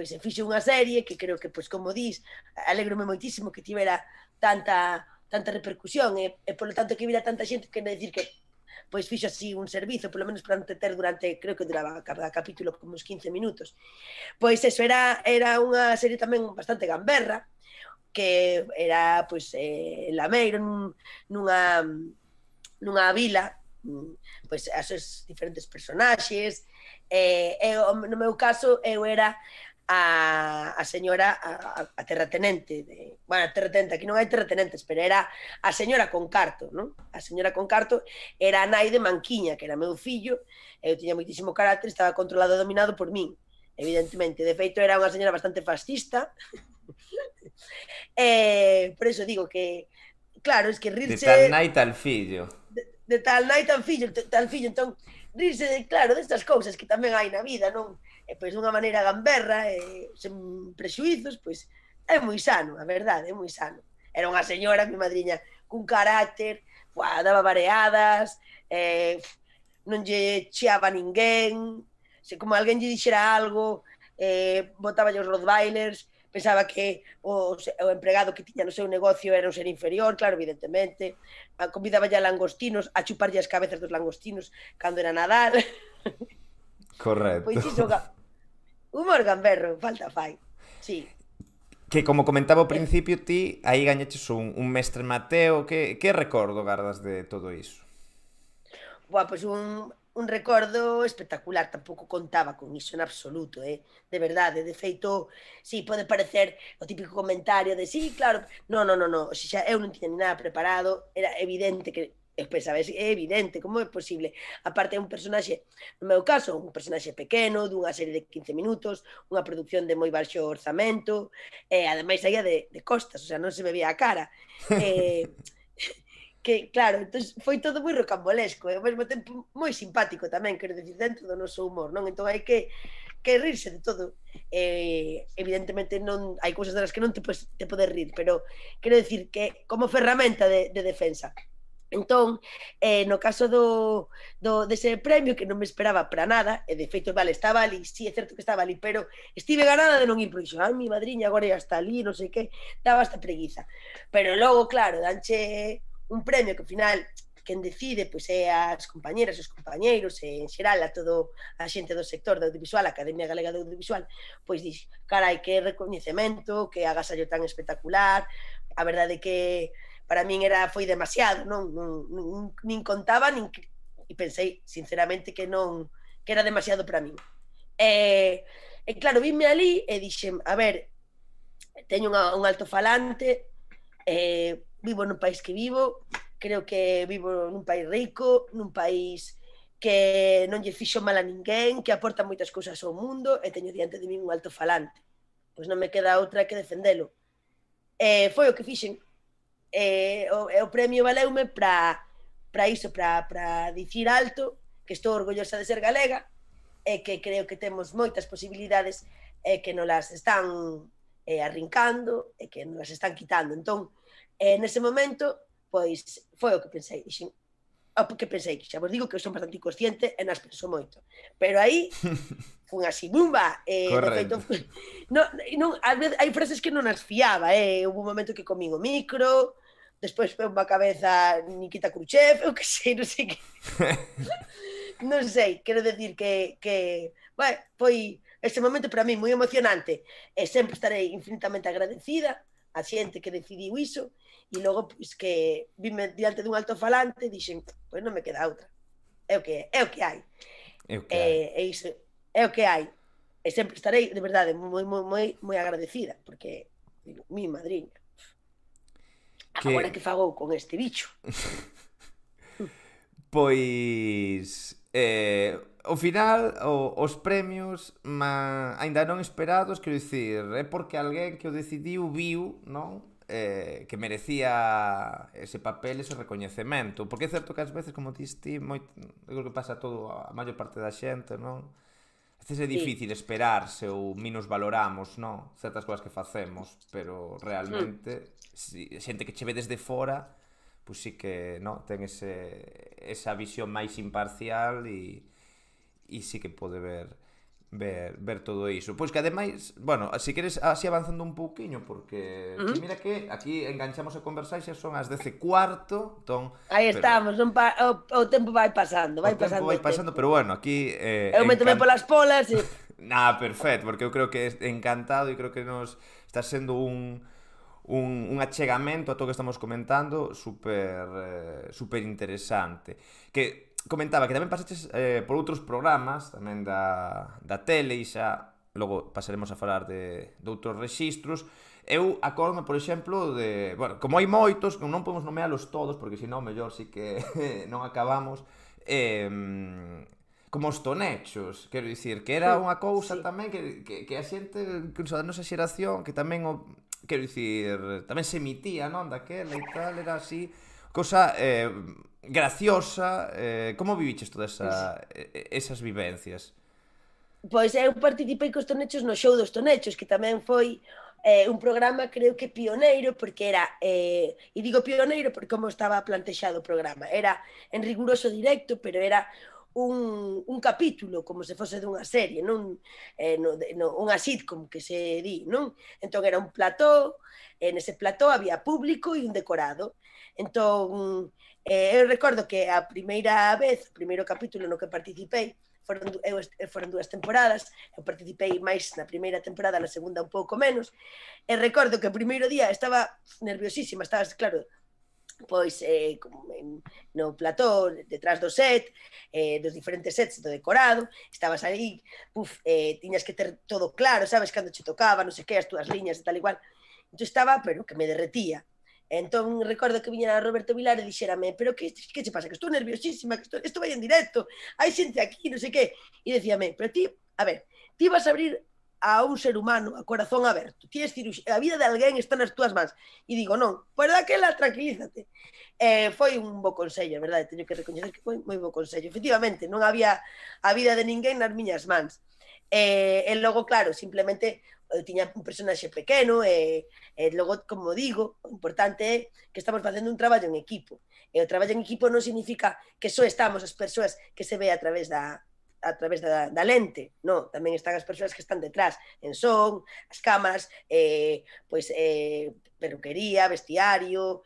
se fixo unha serie que creo que, pois como dis, alegrome moitísimo que tivera tanta repercusión e polo tanto que vira tanta xente, que decir que pois fixo así un servizo, polo menos para entreter durante, creo que duraba cada capítulo como uns 15 minutos. Pois eso, era unha serie tamén bastante gamberra, que era pois Lameiro nunha vila, pois as seus diferentes personaxes. No meu caso, eu era a señora, a terratenente, bueno, a terratenente, aquí non hai terratenentes, pero era a señora Concarto, non? A señora Concarto era a nai de Manquiña, que era meu fillo, eu tiña moitísimo carácter, estaba controlado e dominado por min, evidentemente. De feito, era unha señora bastante fascista, por eso digo que, claro, es que rirse... De tal nai tal fillo. De tal nai tal fillo, entón, rirse, claro, destas cousas que tamén hai na vida, non? E pois dunha maneira gamberra, sen prexuizos, pois é moi sano, a verdade, é moi sano. Era unha señora, mi madriña, cun carácter, daba vareadas, non lle cheaba a ninguén, se como alguén lle dixera algo, botaba os rottweilers, pensaba que o empregado que tiña no seu negocio era un ser inferior, claro, evidentemente. Convidaba ya langostinos, a chuparlle as cabezas dos langostinos cando era Nadal. Correcto. Pois iso, humor gamberro, falta fai. Sí. Que como comentaba ao principio, ti aí gañaches un Mestre Mateo. Que recordo gardas de todo iso? Pois un recordo espectacular, tampouco contaba con iso en absoluto, de verdade. De feito, sí, pode parecer o típico comentario de sí, claro, non, o sea, eu non tiña ni nada preparado, era evidente que, pensaba, é evidente, como é posible? Aparte, é un personaxe, no meu caso, un personaxe pequeno, dunha serie de 15 minutos, unha produción de moi baixo orzamento, e ademais saía de costas, o sea, non se me veía a cara. Que, claro, entón foi todo moi rocambolesco e ao mesmo tempo moi simpático tamén, quero dicir, dentro do noso humor, non? Entón hai que rirse de todo. Evidentemente non hai cousas das que non te podes rir, pero quero dicir que como ferramenta de defensa Entón, no caso dese premio, que non me esperaba para nada, e de feito, vale, estaba ali, sí, é certo que estaba ali, pero estive ganada de non ir, porque ai, mi madriña agora ya está ali, non sei que, daba hasta preguiza. Pero logo, claro, danche un premio que ao final quen decide pois é as compañeras, os compañeiros, e en xeral a todo a xente do sector do audiovisual, a Academia Galega do Audiovisual, pois dix, carai, que recoñecemento, que agasallo tan espectacular, a verdade que para min foi demasiado, nin contaba, e pensei sinceramente que non, que era demasiado para min. E claro, vime ali e dixen, a ver, teño un altofalante, vivo nun país que vivo, creo que vivo nun país rico, nun país que non lle fixo mal a ninguén, que aporta moitas cousas ao mundo, e teño diante de min un altofalante. Pois non me queda outra que defendelo. Foi o que fixen. O premio valeume para iso, para dicir alto que estou orgullosa de ser galega e que creo que temos moitas posibilidades e que nos las están arrincando e que nos las están quitando. Entón, nese momento, pois, foi o que pensei. Dixen, que pensei, que xa vos digo que eu son bastante inconsciente e nas penso moito. Pero aí, fun así, bumba, de feito, non, ás veces hai frases que non as fiaba, houve un momento que comín o micro, despois foi unha cabeza Nikita Khrushchev, eu que sei, non sei que... non sei, quero decir que bueno, foi ese momento para mí moi emocionante e sempre estarei infinitamente agradecida a xente que decidiu iso e logo pois, que vime diante dun altofalante e dixen, pois non me queda outra, é o que hai. E iso é o que hai. E sempre estarei, de verdade, moi agradecida, porque, digo, mi madriña, agora que fagou con este bicho. Pois ao final os premios aínda non esperados, quero dicir, é porque alguén que o decidiu viu, non? Que merecía ese papel, ese recoñecemento, porque é certo que ás veces, como diste, eu creo que pasa todo a maior parte da xente, non? A veces é difícil esperarse ou menos valoramos, non? Certas cousas que facemos, pero realmente xente que che ve desde fora, pois sí que, non? Ten esa visión máis imparcial e sí que pode ver todo iso. Pois que ademais, bueno, se queres así avanzando un pouquiño, porque mira que aquí enganchamos a conversar e xa son as 10:15, entón... Aí estamos, o tempo vai pasando, vai pasando. O tempo vai pasando, pero bueno, aquí... Eu métome polas polas e... Nah, perfecto, porque eu creo que é encantado e creo que nos está sendo un achegamento a todo o que estamos comentando super interesante. Que comentaba que tamén pasaches por outros programas tamén da tele e xa logo pasaremos a falar de outros rexistros. Eu acordome, por exemplo, de... Bueno, como hai moitos, non podemos nomealos todos, porque senón mellor sí que non acabamos. Como os tonechos, quero dicir, que era unha cousa tamén que a xente, incluso da nosa xeración, que tamén quero dicir, tamén se emitía, non, daquela e tal, era así, cousa graciosa. Como viviches todas esas vivencias? Pois eu participei cos tonechos no show dos tonechos, que tamén foi un programa creo que pioneiro, porque era, e digo pioneiro porque como estaba plantexado o programa, era en riguroso directo, pero era un capítulo, como se fose dunha serie, non unha sitcom que se di, non? Entón era un plató, nese plató había público e un decorado. Entón, eu recordo que a primeira vez, o primeiro capítulo no que participei, foron 2 temporadas, eu participei máis na primeira temporada, na segunda un pouco menos, e recordo que o primeiro día estaba nerviosísima, estaba, claro, pois no plató, detrás do set, dos diferentes sets do decorado, estabas aí, tiñas que ter todo claro, sabes, cando che tocaba, non sei que, as túas liñas e tal igual, entón estaba, pero que me derretía. Entón recordo que viñera Roberto Vilar e dixérame, pero que che pasa, que estou nerviosísima, que isto vai en directo, hai xente aquí, non sei que, e dicíame, pero ti, a ver, ti vas a abrir a un ser humano a corazón aberto, ti es a vida de alguén está nas túas mans, e digo, non, pois daquela tranquilízate. Foi un bo consello, verdade, teño que recoñecer que foi moi bo consello, efectivamente, non había a vida de ninguén nas miñas mans. E logo, claro, simplemente eu tiña un personaxe pequeno e logo, como digo, o importante é que estamos facendo un traballo en equipo. E o traballo en equipo non significa que só estamos as persoas que se ve a través da lente, non, tamén están as persoas que están detrás, en son, as cámaras, peluquería, vestiario,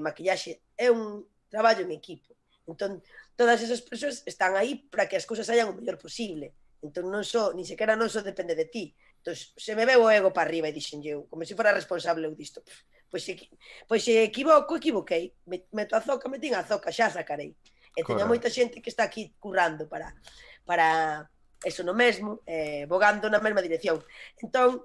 maquillaxe, é un traballo en equipo. Entón, todas esas persoas están aí para que as cousas saían o mellor posible. Entón, non só, ni sequera non só depende de ti. Entón, se me veo o ego para arriba e dixen eu, como se fora responsable eu disto, pois se equivoco, equivoquei. Meto a zoca, metín a zoca, xa sacarei. E teño moita xente que está aquí currando para eso no mesmo, bogando na mesma dirección. Entón,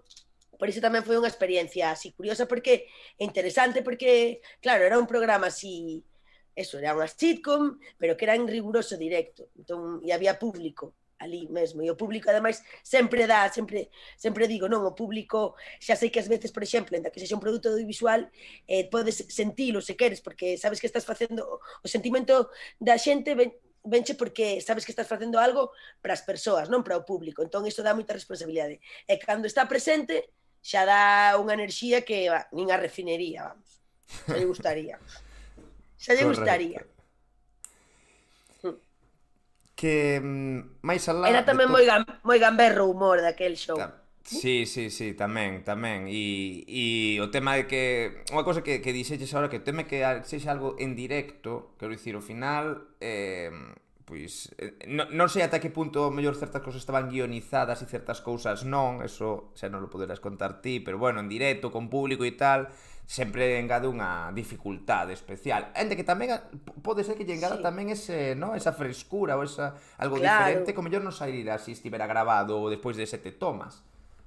por iso tamén foi unha experiencia así curiosa, porque é interesante, porque, claro, era un programa así, eso, era unha sitcom, pero que era en riguroso directo. Entón, e había público ali mesmo, e o público, ademais, sempre digo, non, o público, xa sei que ás veces, por exemplo, enda que sexa un produto audiovisual, podes sentilo se queres, porque sabes que estás facendo, o sentimento da xente venche porque sabes que estás facendo algo para as persoas, non para o público. Entón, iso dá moita responsabilidade. E cando está presente, xa dá unha enerxía que nin a refinería, vamos. Xa lle gustaría. Xa lle gustaría. Que máis alá... Era tamén moi gamberro o humor daquel show. Sí, tamén. E o tema de que... Unha cosa que dixeches agora, que o tema que sexa algo en directo, quero dicir, ao final... Pois, non sei ata que punto mellor certas cousas estaban guionizadas e certas cousas non, eso xa non lo poderás contar ti, pero bueno, en directo, con público e tal, sempre engade unha dificultade especial. Ente que tamén pode ser que lle engada tamén ese, no, esa frescura ou esa algo diferente, como mellor non sairá se estivera grabado despois de 7 tomas,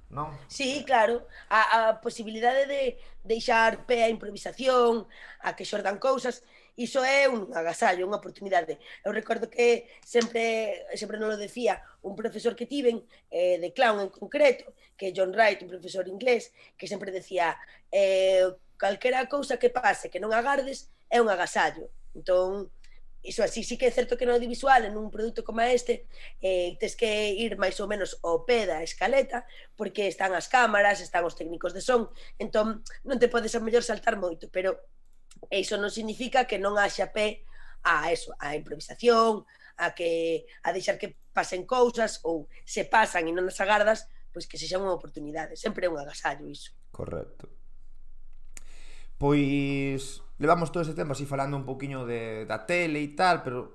non? Sí, claro, a posibilidade de deixar pé a improvisación, a que xordan cousas, iso é un agasallo, unha oportunidade. Eu recordo que sempre non lo decía un profesor que tiven, de clown en concreto, que é John Wright, un profesor inglés, que sempre decía calquera cousa que pase que non agardes é un agasallo. Entón, iso así, sí que é certo que no audiovisual, en un produto como este, tes que ir máis ou menos ao pé da escaleta, porque están as cámaras, están os técnicos de son, entón non te podes a mellor saltar moito, pero iso non significa que non haxa pé a eso, a improvisación, a deixar que pasen cousas, ou se pasan e non as agardas, pois que sexa unha oportunidade, sempre é un agasallo iso. Correcto. Pois levamos todo ese tempo así falando un poquinho da tele e tal, pero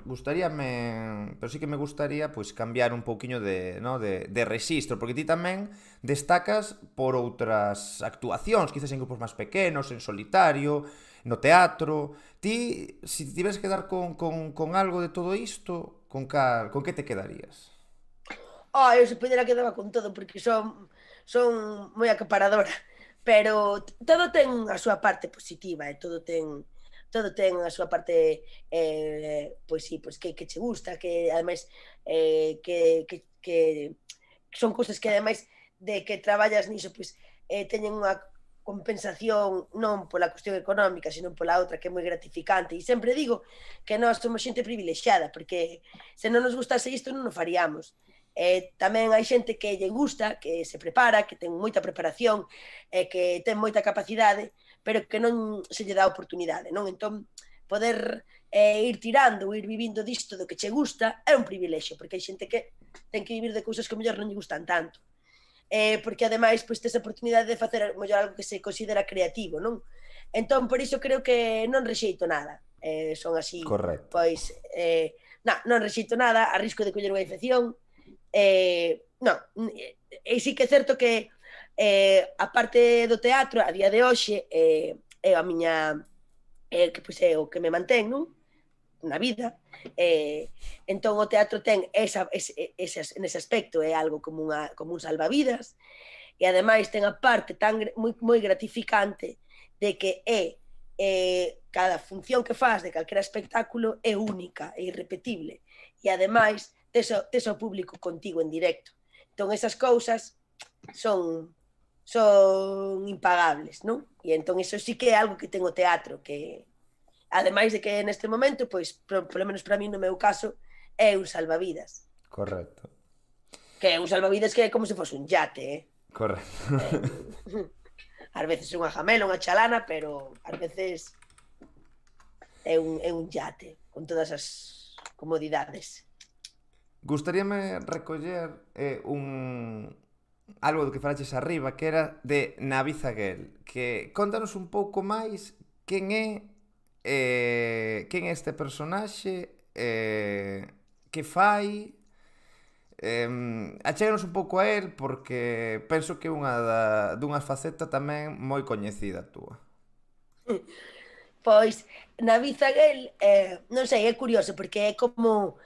sí que me gustaría pois cambiar un poquinho de rexistro, porque ti tamén destacas por outras actuacións, quizás en grupos máis pequenos, en solitario, no teatro. Ti, se tiveres que dar con algo de todo isto, con que te quedarías? Eu se pudiera quedaba con todo, porque son moi acaparadora, pero todo ten a súa parte positiva, e todo ten a súa parte, pois sí, pois que che gusta, que ademais que son cousas que ademais de que traballas niso, pois teñen unha compensación non pola cuestión económica, sino pola outra, que é moi gratificante. E sempre digo que nós somos xente privilexiada, porque se non nos gustase isto non o faríamos. Tamén hai xente que lle gusta, que se prepara, que ten moita preparación, que ten moita capacidade, pero que non se lle dá oportunidade, non? Entón, poder ir tirando, ir vivindo disto do que che gusta é un privilexio, porque hai xente que ten que vivir de cousas que mellor non lle gustan tanto. Porque ademais pois tes a oportunidade de facer mellor algo que se considera creativo, non? Entón, por iso creo que non rexeito nada. Son así, correcto. Pois, non rexeito nada, a risco de coller unha infección. Non, e sí que é certo que a parte do teatro a día de hoxe é a miña que pois é o que me mantén, non? Na vida, entón o teatro ten nese aspecto é algo como un salvavidas, e ademais ten a parte tan moi gratificante de que cada función que faz de calquera espectáculo é única, é irrepetible, e ademais tes o público contigo en directo. Entón esas cousas son impagables, non? E entón iso sí que é algo que ten o teatro, que ademais de que neste momento, pois, polo menos para mí no meu caso, é un salvavidas. Correcto. Que é un salvavidas que é como se fose un yate, Correcto. Ás veces é unha jamela, unha chalana, pero ás veces é un yate con todas as comodidades. Gustaríame recoller algo do que falaches arriba, que era de Navi Zaguel, que contanos un pouco máis quen é este personaxe, que fai, achéganos un pouco a él, porque penso que é dunha faceta tamén moi coñecida túa. Pois, Navi Zaguel, non sei, é curioso, porque é como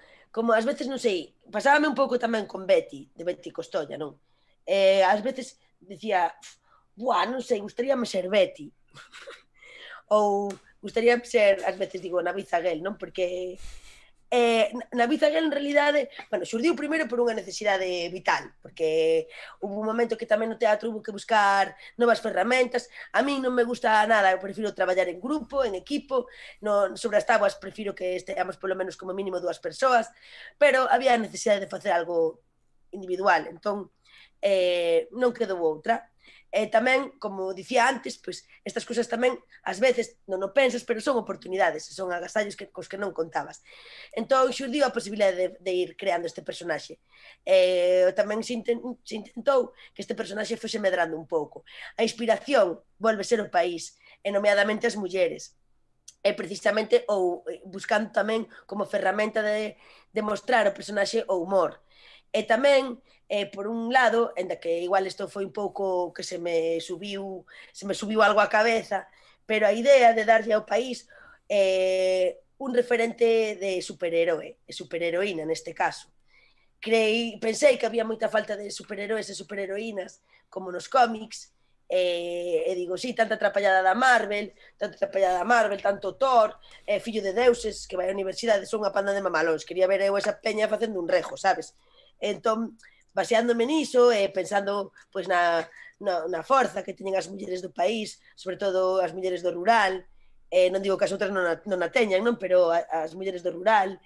ás veces, non sei, pasábame un pouco tamén con Betty, de Betty Costolla, non? Ás veces dicía, buah, non sei, gustaríame ser Betty. Ou gustaría ser, ás veces digo, Navi Zaguel, non? Porque Navi Zaguel en realidade, bueno, xurdiu primeiro por unha necesidade vital, porque hubo un momento que tamén no teatro hubo que buscar novas ferramentas. A mí non me gusta nada, eu prefiro traballar en grupo, en equipo, non, sobre as táboas prefiro que esteamos polo menos como mínimo 2 persoas, pero había a necesidade de facer algo individual, entón non quedou outra. Tamén, como dicía antes, pois estas cousas tamén ás veces non o pensas, pero son oportunidades, son agasallos cos que non contabas. Entón xurdiu a posibilidade de ir creando este personaxe. Tamén se intentou que este personaxe fose medrando un pouco. A inspiración volve ser o país, e nomeadamente as mulleres. E precisamente ou buscando tamén como ferramenta de mostrar o personaxe o humor. E tamén, por un lado, enda que igual isto foi un pouco que se me subiu algo á cabeza, pero a idea de darlle ao país un referente de superhéroe, e superheroína neste caso. Pensei que había moita falta de superheroes e superheroínas como nos cómics, e digo, sí, tanta atrapallada da Marvel, tanto Thor, fillo de deuses, que vai á universidade, son unha panda de mamalóns, quería ver eu esa peña facendo un rejo, sabes? Entón, baseándome niso, pensando pois na forza que teñen as mulleres do país, sobre todo as mulleres do rural, non digo que as outras non a teñan, non, pero as mulleres do rural,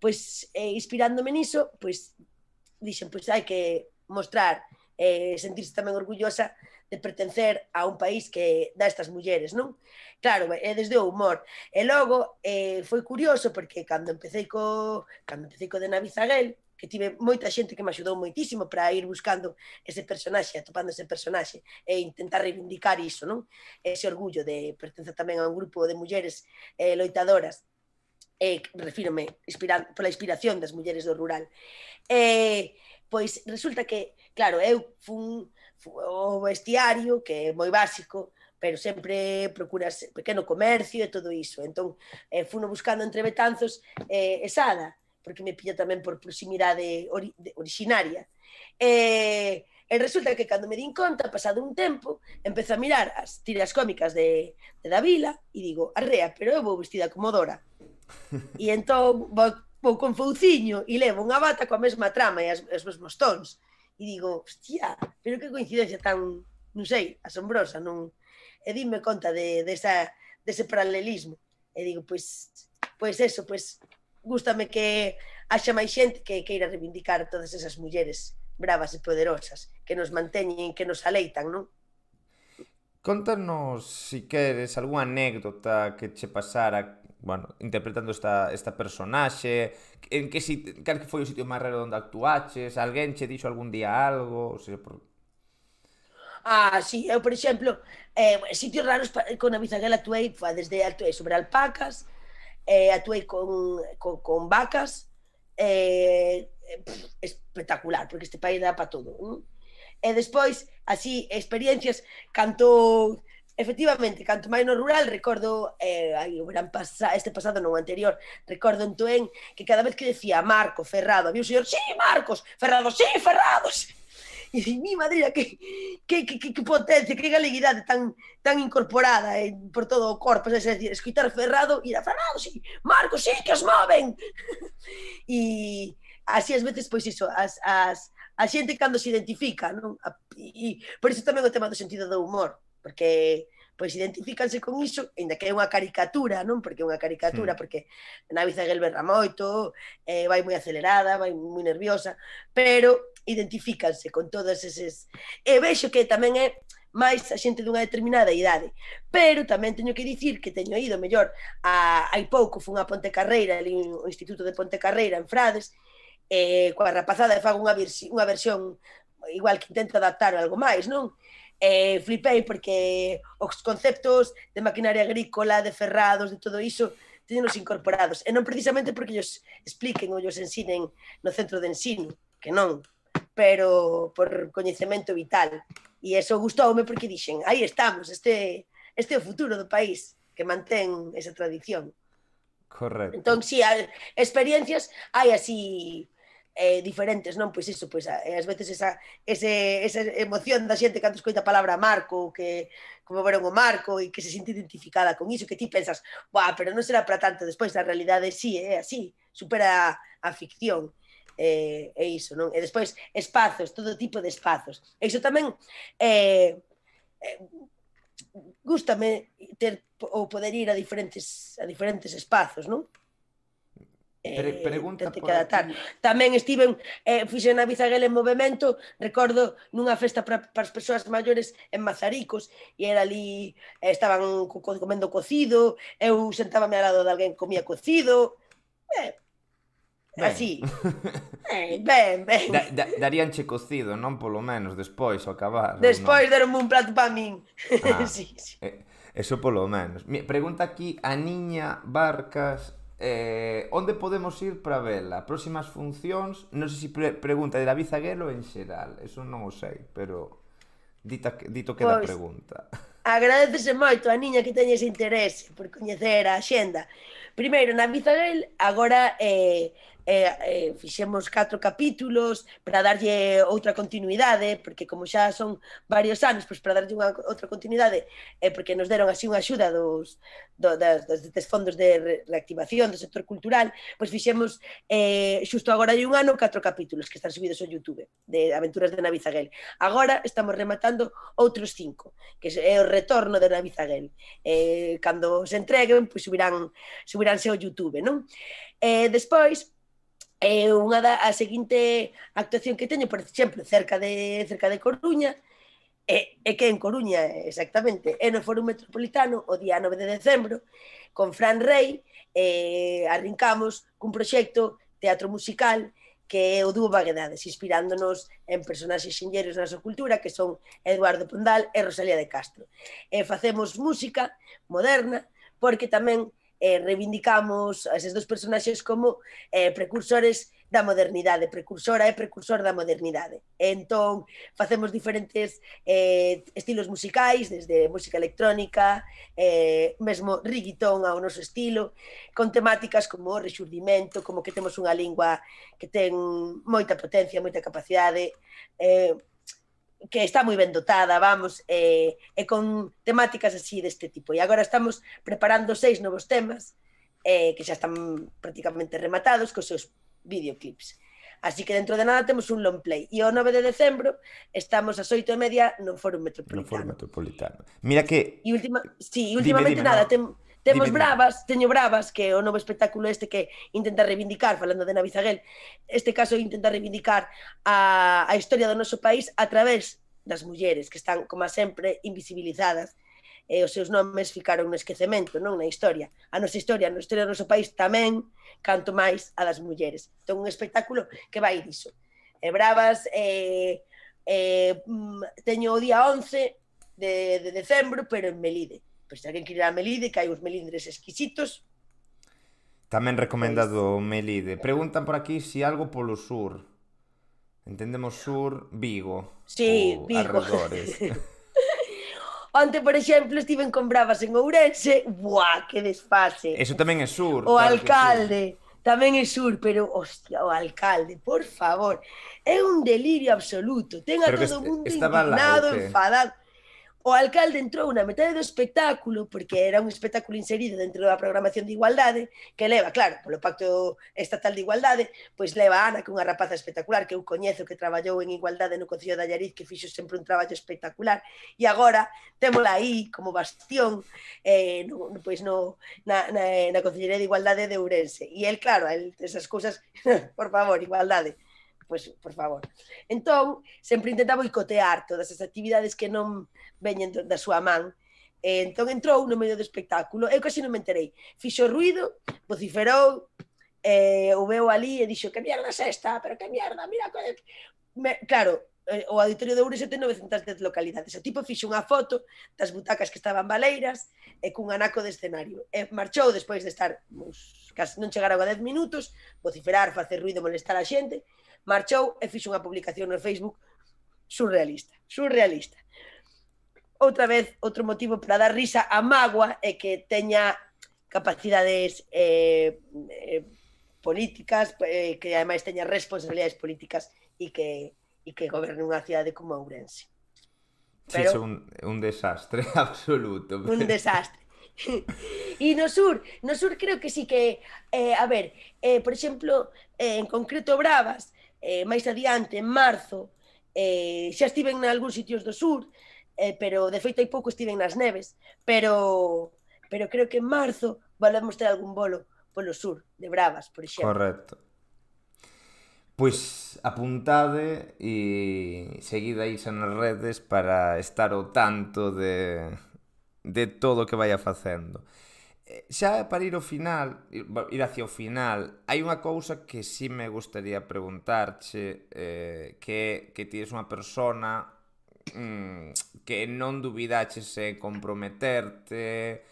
pois inspirándome niso, pois dixen, pois hai que mostrar, sentirse tamén orgullosa de pertencer a un país que dá estas mulleres, non? Claro, é desde o humor. E logo foi curioso porque cando empecé co de Navi Zaguel, que tive moita xente que me axudou moitísimo para ir buscando ese personaxe, atopando ese personaxe e intentar reivindicar iso, non? Ese orgullo de pertencer tamén a un grupo de mulleres loitadoras, refírome pola inspiración das mulleres do rural. Pois resulta que, claro, eu fun o vestiario, que é moi básico, pero sempre procuras pequeno comercio e todo iso. Entón, funo buscando entre Betanzos e Sada, porque me pilla tamén por proximidade originaria. E resulta que cando me din conta, pasado un tempo, empezo a mirar as tiras cómicas de Davila e digo, arrea, pero eu vou vestida como Dora. E entón vou con fouciño e levo unha bata coa mesma trama e os mesmos tons. E digo, hostia, pero que coincidencia tan, non sei, asombrosa, non? E dime conta dese paralelismo. E digo, pois eso, pois gústame que haxa máis xente que queira reivindicar todas esas mulleres bravas e poderosas que nos manteñen, que nos aleitan, non? Contanos, si queres, algunha anécdota que che pasara, bueno, interpretando esta personaxe, cal que foi o sitio máis raro onde actuaches, alguén che dixo algún día algo, o sea, Sí, eu, por exemplo, sitios raros con a Bizaguela actuei sobre alpacas, actuei con vacas, espectacular, porque este país dá para todo, non? E despois, así, experiencias, efectivamente, canto máis no rural, recordo, este pasado non anterior, recordo en Toén, que cada vez que decía Marco, Ferrado, había un señor, sí, Marcos, Ferrados, sí, Ferrados, e mi madrina, que potencia, que galeguidade tan incorporada por todo o corpo, é dicir, escoitar Ferrado, e era Ferrado, sí, Marcos, sí, que os moven, e así as veces, pois iso, a xente cando se identifica, non? E por iso tamén o tema do sentido do humor, porque pois identifícanse con iso, ainda que é unha caricatura, non? Porque é unha caricatura, porque Navi Zaguel berra moito, vai moi acelerada, vai moi nerviosa, pero identifícanse con todas eses... E vexo que tamén é máis a xente dunha determinada idade. Pero tamén teño que dicir que teño ido mellor hai pouco fun a Pontecarreira, ali o Instituto de Pontecarreira en Frades, coa rapazada e fago unha versión igual que intento adaptar algo máis, non? Flipei porque os conceptos de maquinaria agrícola, de ferrados, de todo iso, teñenos incorporados. E non precisamente porque ellos expliquen ou ellos ensinen no centro de ensino, que non, pero por coñecemento vital. E eso gustoume porque dixen, aí estamos, este é o futuro do país, que mantén esa tradición. Correcto. Entón, si, experiencias hai así diferentes, non? Pois iso, pois ás veces esa emoción da xente cando escoita a palabra marco, que como veron o marco e que se sente identificada con iso, que ti pensas, buah, pero non será para tanto, despois a realidade sí, é así, supera a ficción. E iso, non? E despois espazos, todo tipo de espazos. E iso tamén gústame ter ou poder ir a diferentes espazos, non? Pregunta Tente por que adaptar. aquí. Tamén estiven, fixen a Bizaguel en movemento, recordo nunha festa para as persoas maiores en Mazaricos, e era ali, estaban comendo cocido, eu sentábame ao lado de alguén que comía cocido, así. Ben. Daríanche cocido, non? Polo menos, despois, ao acabar. Despois deronme un plato para min. Sí. Eso polo menos. Pregunta aquí a Niña Barcas, onde podemos ir para vela? Próximas funcións, non sei se pregunta de David Zaguelo en xeral, eso non o sei, pero dito queda a pregunta. Agradecese moito a niña que teña ese interese por coñecer a xenda. Primeiro, na Bizaguel, agora fixemos 4 capítulos para darlle outra continuidade, porque como xa son varios anos, pois para darlle outra continuidade, porque nos deron así unha axuda dos fondos de reactivación do sector cultural, pois fixemos xusto agora hai un ano 4 capítulos que están subidos ao YouTube de Aventuras de Navizaguel. Agora estamos rematando outros 5, que é o retorno de Navizaguel. Cando se entreguen, pois subiránse ao YouTube, non? Despois, a seguinte actuación que teño, por exemplo, cerca de Coruña, que en Coruña exactamente, é no Foro Metropolitano o día 9 de decembro, con Fran Rey, arrincamos cun proxecto teatro musical que é o dúo Vaguedades, inspirándonos en personaxes xenlleiros da nosa cultura, que son Eduardo Pondal e Rosalía de Castro. Facemos música moderna, porque tamén reivindicamos a eses dos personaxes como precursores da modernidade, precursora e precursor da modernidade. Entón, facemos diferentes estilos musicais, desde música electrónica, mesmo reggaetón ao noso estilo, con temáticas como o rexurdimento, como que temos unha lingua que ten moita potencia, moita capacidade, que está moi ben dotada, vamos, e con temáticas así deste tipo. E agora estamos preparando 6 novos temas que xa están prácticamente rematados cos seus videoclips. Así que dentro de nada temos un long play. E o 9 de decembro estamos ás 8:30 no Foro Metropolitano. No Foro Metropolitano. Mira que... últimamente nada, temos Bravas, teño Bravas, que é o novo espectáculo este que intenta reivindicar, falando de Navizaguel, este caso intenta reivindicar a historia do noso país a través das mulleres, que están, como sempre, invisibilizadas, e os seus nomes ficaron no esquecemento, non na historia. A nosa historia do noso país tamén, canto máis a das mulleres. Entón, un espectáculo que vai diso. Bravas, teño o día 11 de decembro, pero en Melide. Pois se alguén quere ir a Melide, que hai uns melindres exquisitos. Tamén recomendado Melide. Preguntan por aquí se algo polo sur. Entendemos sur, Vigo. Sí, Vigo. Arredores. Onte, por exemplo, estiven con Bravas en Ourense. Buah, que desfase. Eso tamén é sur. O alcalde tamén é sur, pero, hostia, o alcalde, por favor, é un delirio absoluto. Ten a todo o mundo indignado, enfadado. O alcalde entrou na metade do espectáculo, porque era un espectáculo inserido dentro da programación de igualdade, que leva, claro, polo Pacto Estatal de Igualdade, pois leva a Ana, que é unha rapaza espectacular, que eu coñezo, que traballou en igualdade no Concello de Allariz, que fixo sempre un traballo espectacular, e agora témola aí como bastión na Concellería de Igualdade de Ourense. E el, claro, esas cousas, por favor, igualdade. pois, por favor. Entón, sempre intenta boicotear todas as actividades que non veñen da súa man. Entón entrou no medio do espectáculo, eu casi non me enterei. Fixo ruido, vociferou, o veu ali e dixo que mierda é esta, pero que mierda, mira... Claro, o Auditorio de Ourense ten 910 localidades. O tipo fixo unha foto das butacas que estaban baleiras e cun anaco de escenario. E marchou despois de estar, casi non chegaron a 10 minutos, vociferar, facer ruido, molestar a xente, marchou e fixo unha publicación no Facebook surrealista. Outra vez, outro motivo para dar risa a mágoa é que teña capacidades políticas, que ademais teña responsabilidades políticas e que goberne unha cidade como Ourense. Pero, sí, un desastre absoluto. Un desastre. E no sur creo que sí que, a ver, por exemplo, en concreto Bravas, máis adiante, en marzo, xa estiven en algúns sitios do sur, pero de feito hai pouco estiven nas neves, pero creo que en marzo volvemos ter algún bolo polo sur de Bravas, por exemplo. Correcto. Pois apuntade e seguid aí nas redes para estar ao tanto de todo o que vai facendo. Xa para ir hacia o final, hai unha cousa que sí me gustaría preguntarche, que ti és unha persona que non dubidaches en comprometerte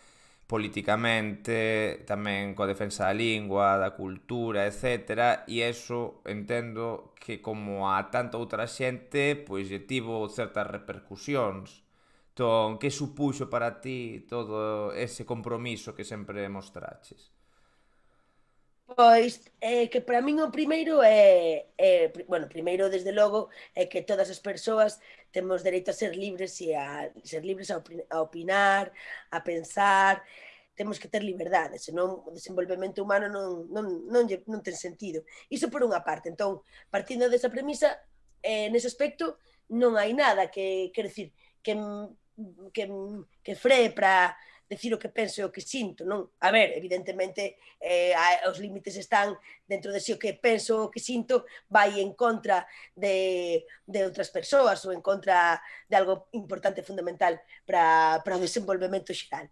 políticamente, tamén coa defensa da lingua, da cultura, etc. E iso entendo que como a tanta outra xente, pois lle tivo certas repercusións. Entón, que supuxo para ti todo ese compromiso que sempre mostraches? Pois, que para min o primeiro bueno, primeiro, desde logo, é que todas as persoas temos dereito a ser libres e a ser libres a opinar, a pensar, temos que ter liberdade, senón o desenvolvemento humano non ten sentido. Iso por unha parte. Entón, partindo desa premisa, nese aspecto non hai nada que, quer decir, que free para decir o que penso e o que sinto, non? A ver, evidentemente, os límites están dentro de si o que penso, o que sinto, vai en contra de outras persoas ou en contra de algo importante, fundamental para o desenvolvemento xeral.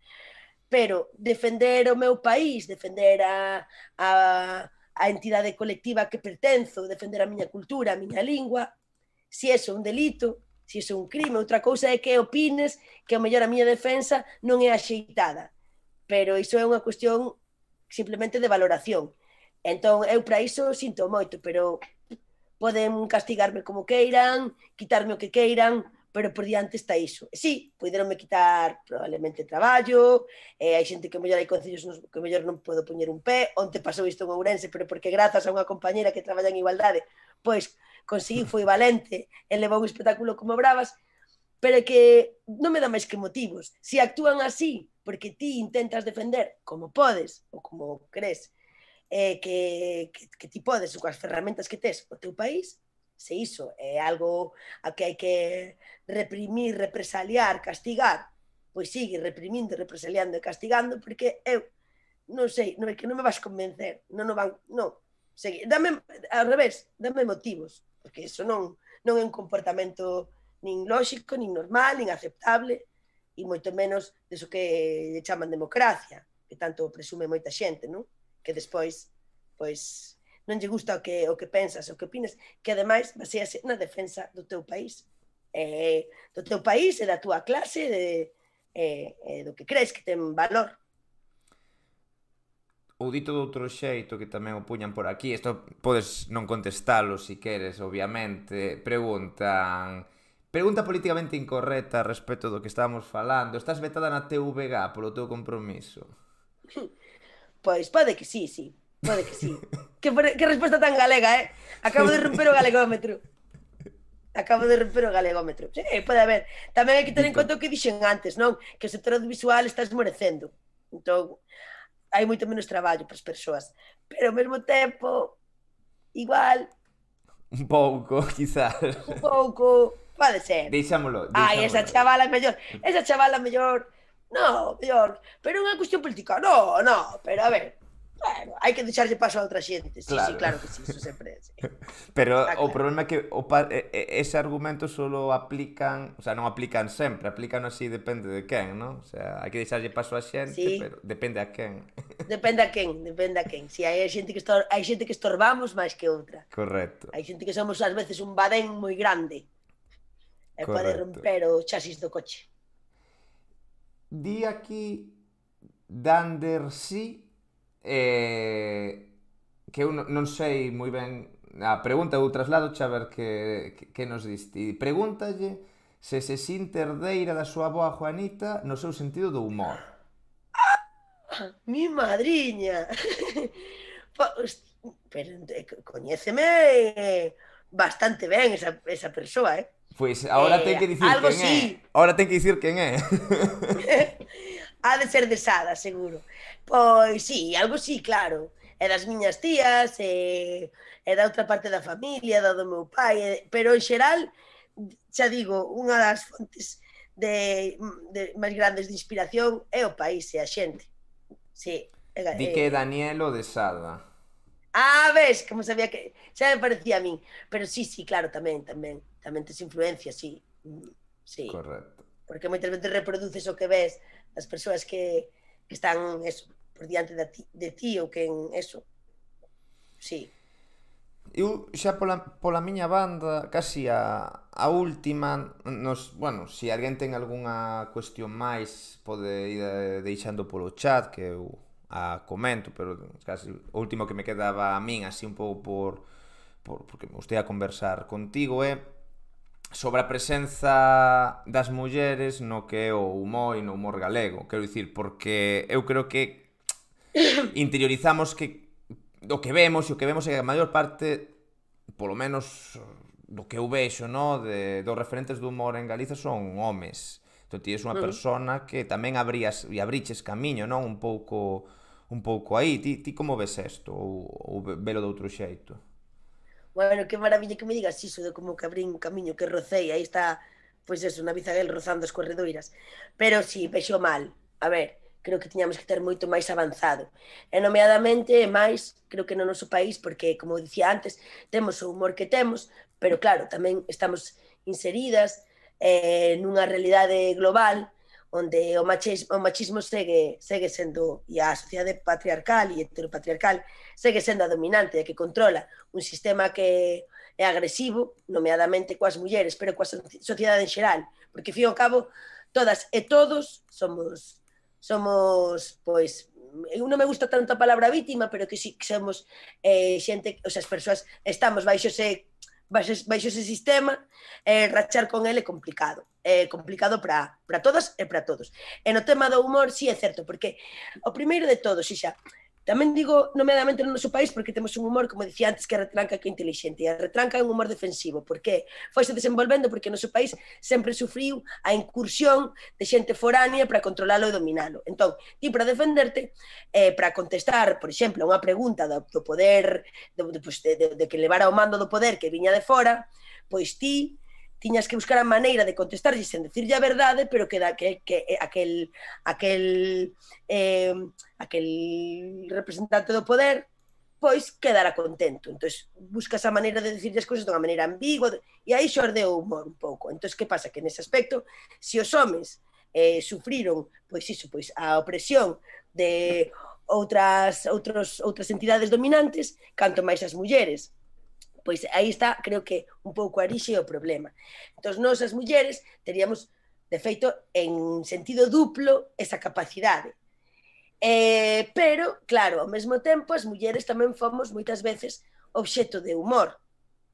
Pero defender o meu país, defender a entidade colectiva que pertenzo, defender a miña cultura, a miña lingua, se é un delito, se iso é un crime, outra cousa é que opines que ao mellor a miña defensa non é axeitada, pero iso é unha cuestión simplemente de valoración. Entón, eu para iso sinto moito, pero poden castigarme como queiran, quitarme o que queiran, pero por diante está iso. E sí, poderonme quitar probablemente traballo, hai xente que ao mellor hai concellos que ao mellor non podo poñer un pé, onte pasou isto en Ourense, pero porque grazas a unha compañera que traballa en igualdade, pois conseguiu, foi valente, e levou un espectáculo como Bravas, pero que non me dá máis que motivos. Se actúan así, porque ti intentas defender como podes, ou como crees, que ti podes, ou coas ferramentas que tes o teu país, se iso é algo a que hai que reprimir, represaliar, castigar, pois sigue reprimindo, represaliando e castigando, porque eu non sei, non é que non me vas convencer, non segui, dame, ao revés, dame motivos, porque iso non é un comportamento nin lóxico, nin normal, nin aceptable, e moito menos deso que chaman democracia, que tanto presume moita xente, non? Que despois, pois, non lle gusta o que pensas, o que opines, que ademais basease na defensa do teu país, e da túa clase, do que crees que ten valor. Ou dito de outro xeito, que tamén o puñan por aquí, isto podes non contestalo se queres, obviamente, pregunta políticamente incorrecta respecto do que estábamos falando. Estás vetada na TVG polo teu compromiso? Pois pode que sí, pode que sí. Que resposta tan galega, Acabo de romper o galegómetro. Sí, pode haber. Tamén hai que ter en conta o que dixen antes, non? Que o sector audiovisual está esmorecendo. Entón, hai moito menos traballo para as persoas, pero ao mesmo tempo igual un pouco, quizás pode ser. Deixámolo. Esa chavala mellor no, mellor, pero é unha cuestión política, no, pero a ver, Bueno, hai que deixarlle paso a outra xente. Sí, sí, Claro. claro que sí, iso sempre. Sí. Pero Está o claro. problema é que ese argumento solo aplican, o sea, non aplican sempre, aplican así depende de quen, non? O sea, hai que deixarlle paso a xente, Sí, pero depende a quen. depende a quen, depende a quen. Si hai xente que hai xente que estorbamos máis que outra. Correcto, Hai xente que somos ás veces un badén moi grande e pode correcto. romper o chasis do coche. Di aquí Dander sí que eu non sei moi ben a pregunta, eu traslado a ver que nos diste. Pregúntalle se sinte herdeira da súa boa Juanita no seu sentido do humor. Mi madriña. Pues, pero coñéceme bastante ben esa persoa, eh? Pois agora ten que dicir Algo quen é. sí. Agora ten que dicir quen é. Ha de ser de Sada, seguro. Pois sí, algo sí, claro. É das miñas tías, é da outra parte da familia, da do meu pai, pero en xeral, xa digo, unha das fontes máis grandes de inspiración é o país e a xente. Sí. Di que é Danielo de Sada. Ves, como sabía que xa me parecía a min, pero sí, sí, claro, tamén tes influencia, sí. Sí, Correcto. porque moitas veces reproduces o que ves das persoas que están eso, por diante de ti ou que en eso. Sí. Eu xa pola miña banda, casi a última, bueno, se alguén ten algunha cuestión máis, pode ir deixando polo chat, que eu a comento, pero casi o último que me quedaba a min, así un pouco porque me gustei a conversar contigo, é sobre a presenza das mulleres no que é o humor e no humor galego. Quero dicir, porque eu creo que interiorizamos que o que vemos, e o que vemos é que a maior parte, polo menos do que eu vexo, no, dos referentes do humor en Galiza son homes. Entón ti és unha persona que tamén abriches camiño, non? Un pouco aí. Ti como ves isto? Ou velo de outro xeito? Bueno, qué maravilla que me digas iso de como que abrín un camiño que rocei, aí está, pois eso, na Bizaguel rozando as corredoiras. Pero sí, vexo mal. A ver, creo que tiñamos que ter moito máis avanzado. E nomeadamente, máis, creo que no noso país, porque, como dicía antes, temos o humor que temos, pero claro, tamén estamos inseridas nunha realidade global onde o machismo segue sendo, e a sociedade patriarcal e heteropatriarcal segue sendo a dominante, a que controla un sistema que é agresivo, nomeadamente coas mulleres, pero coa sociedade en xeral, porque, fío ao cabo, todas e todos somos pois, eu non me gusta tanto a palabra vítima, pero que sí que somos xente, o sea, as persoas estamos baixo ese sistema, rachar con ele é complicado. É complicado para todas e para todos. E no tema do humor, sí é certo, porque o primeiro de todos, xa, tamén digo nomeadamente no noso país, porque temos un humor, como dicía antes, que é retranca que é inteligente, e a retranca é un humor defensivo, porque foise desenvolvendo porque o noso país sempre sufriu a incursión de xente foránea para controlalo e dominalo. Entón, ti para defenderte, para contestar, por exemplo, a unha pregunta do poder, de que levara o mando do poder que viña de fora, pois ti tiñas que buscar a maneira de contestarlle sen decirlle a verdade, pero que aquel representante do poder pois quedara contento. Entón, buscas a maneira de decirlle as cousas dunha maneira ambigua, e aí xorde o humor un pouco. Entón, que pasa? Que nese aspecto, se os homes sufriron pois iso, pois a opresión de outras entidades dominantes, canto máis as mulleres. Pois aí está, creo que un pouco arixe o problema. Entón, nós as mulleres teríamos, de feito, en sentido duplo, esa capacidade. Pero, claro, ao mesmo tempo, as mulleres tamén fomos moitas veces obxeto de humor.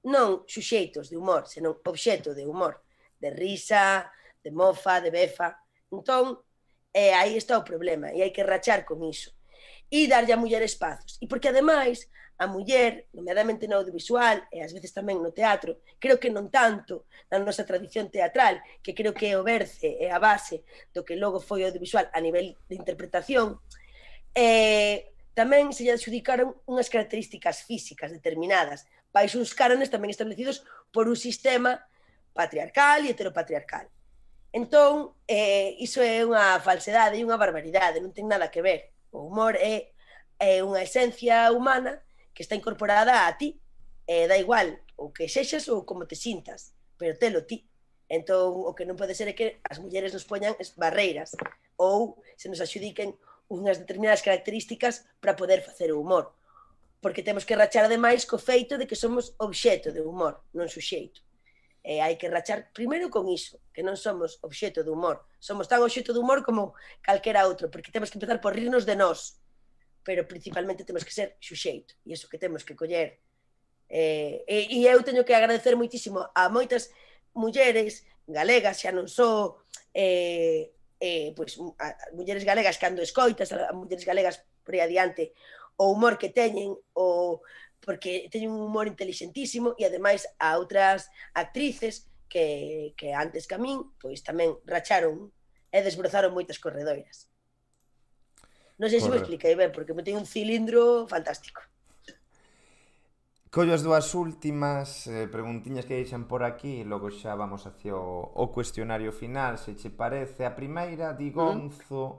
Non suxeitos de humor, senón obxeto de humor. De risa, de mofa, de befa. Entón, aí está o problema, e hai que rachar con iso. E darlle a muller espazos. E porque, ademais, a muller, nomeadamente no audiovisual e ás veces tamén no teatro, creo que non tanto na nosa tradición teatral, que creo que é o berce e a base do que logo foi o audiovisual a nivel de interpretación, tamén se lle adxudicaron unhas características físicas determinadas, baixo uns cánones tamén establecidos por un sistema patriarcal e heteropatriarcal. Entón, iso é unha falsedade e unha barbaridade, non ten nada que ver. O humor é é unha esencia humana que está incorporada a ti. Da igual o que sexas ou como te sintas, pero telo ti. Entón, o que non pode ser é que as mulleres nos poñan barreiras ou se nos axudiquen unhas determinadas características para poder facer o humor. Porque temos que rachar ademais co feito de que somos obxeto de humor, non suxeito. Hai que rachar primeiro con iso, que non somos obxeto de humor. Somos tan obxeto de humor como calquera outro, porque temos que empezar por rirnos de nós, pero principalmente temos que ser xuxeito, e iso que temos que coller. E eu teño que agradecer moitísimo a moitas mulleres galegas, xa non só pois, a mulleres galegas cando escoitas, a mulleres galegas por aí adiante, o humor que teñen, porque teñen un humor inteligentísimo, e ademais a outras actrices que antes que a min, pois tamén racharon e desbrozaron moitas corredoiras. Non sei se me expliquei ben, porque me teño un cilindro fantástico. Collo as dúas últimas preguntiñas que deixan por aquí e logo xa vamos hacia o cuestionario final, se che parece. A primeira, di Gonzo,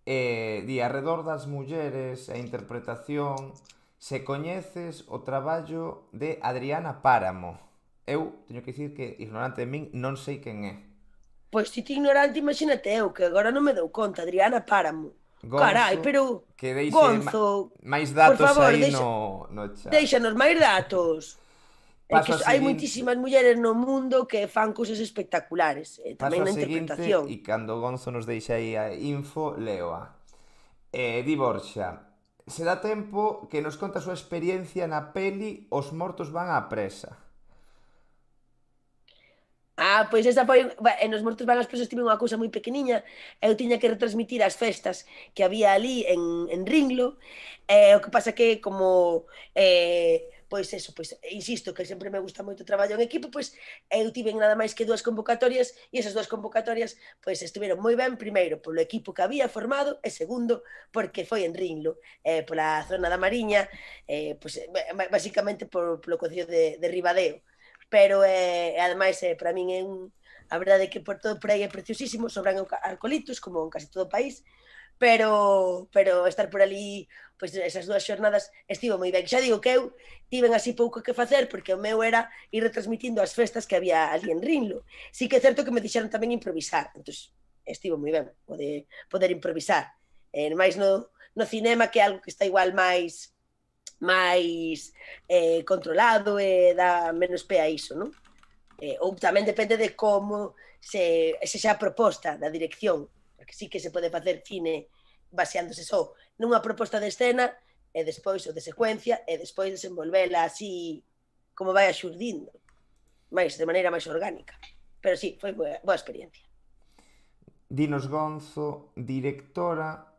di arredor das mulleres e interpretación, se coñeces o traballo de Adriana Páramo. Eu teño que dicir que, ignorante de min, non sei quen é. Pois si ti ignorante, imagínate eu, que agora non me dou conta, Adriana Páramo. Gonzo, carai, pero que deixe Gonzo, máis datos por favor, aí no chat. Déixanos máis datos. É que hai moitísimas mulleres no mundo que fan cousas espectaculares, tamén na interpretación. E cando Gonzo nos deixa aí a info, leoa. Di Borxa, se dá tempo que nos conta a súa experiencia na peli Os mortos van á presa. Pois esa foi, en Os mortos van ás presas tive unha cousa moi pequeniña, eu tiña que retransmitir as festas que había ali en Ringlo, o que pasa que como, pois eso, pois insisto que sempre me gusta moito o traballo en equipo, pois eu tiven nada máis que 2 convocatorias e esas 2 convocatorias pois estiveron moi ben, primeiro polo equipo que había formado e segundo porque foi en Ringlo, pola zona da Mariña, pois basicamente polo concello de Ribadeo. Pero ademais para min é a verdade é que por todo por aí é preciosísimo, sobran alcoholitos como en casi todo o país, pero estar por ali pois esas 2 xornadas estivo moi ben. Xa digo que eu tiven así pouco que facer porque o meu era ir retransmitindo as festas que había ali en Rinlo. Sí que é certo que me dixeron tamén improvisar, entón estivo moi ben poder improvisar. Mais no cinema, que é algo que está igual máis controlado e dá menos pé a iso, non? Ou tamén depende de como se xa a proposta da dirección, porque sí que se pode facer cine baseándose só nunha proposta de escena e despois o de secuencia e despois desenvolvela así como vai axurdindo, máis de maneira máis orgánica. Pero sí, foi boa experiencia. Dinos Gonzo, directora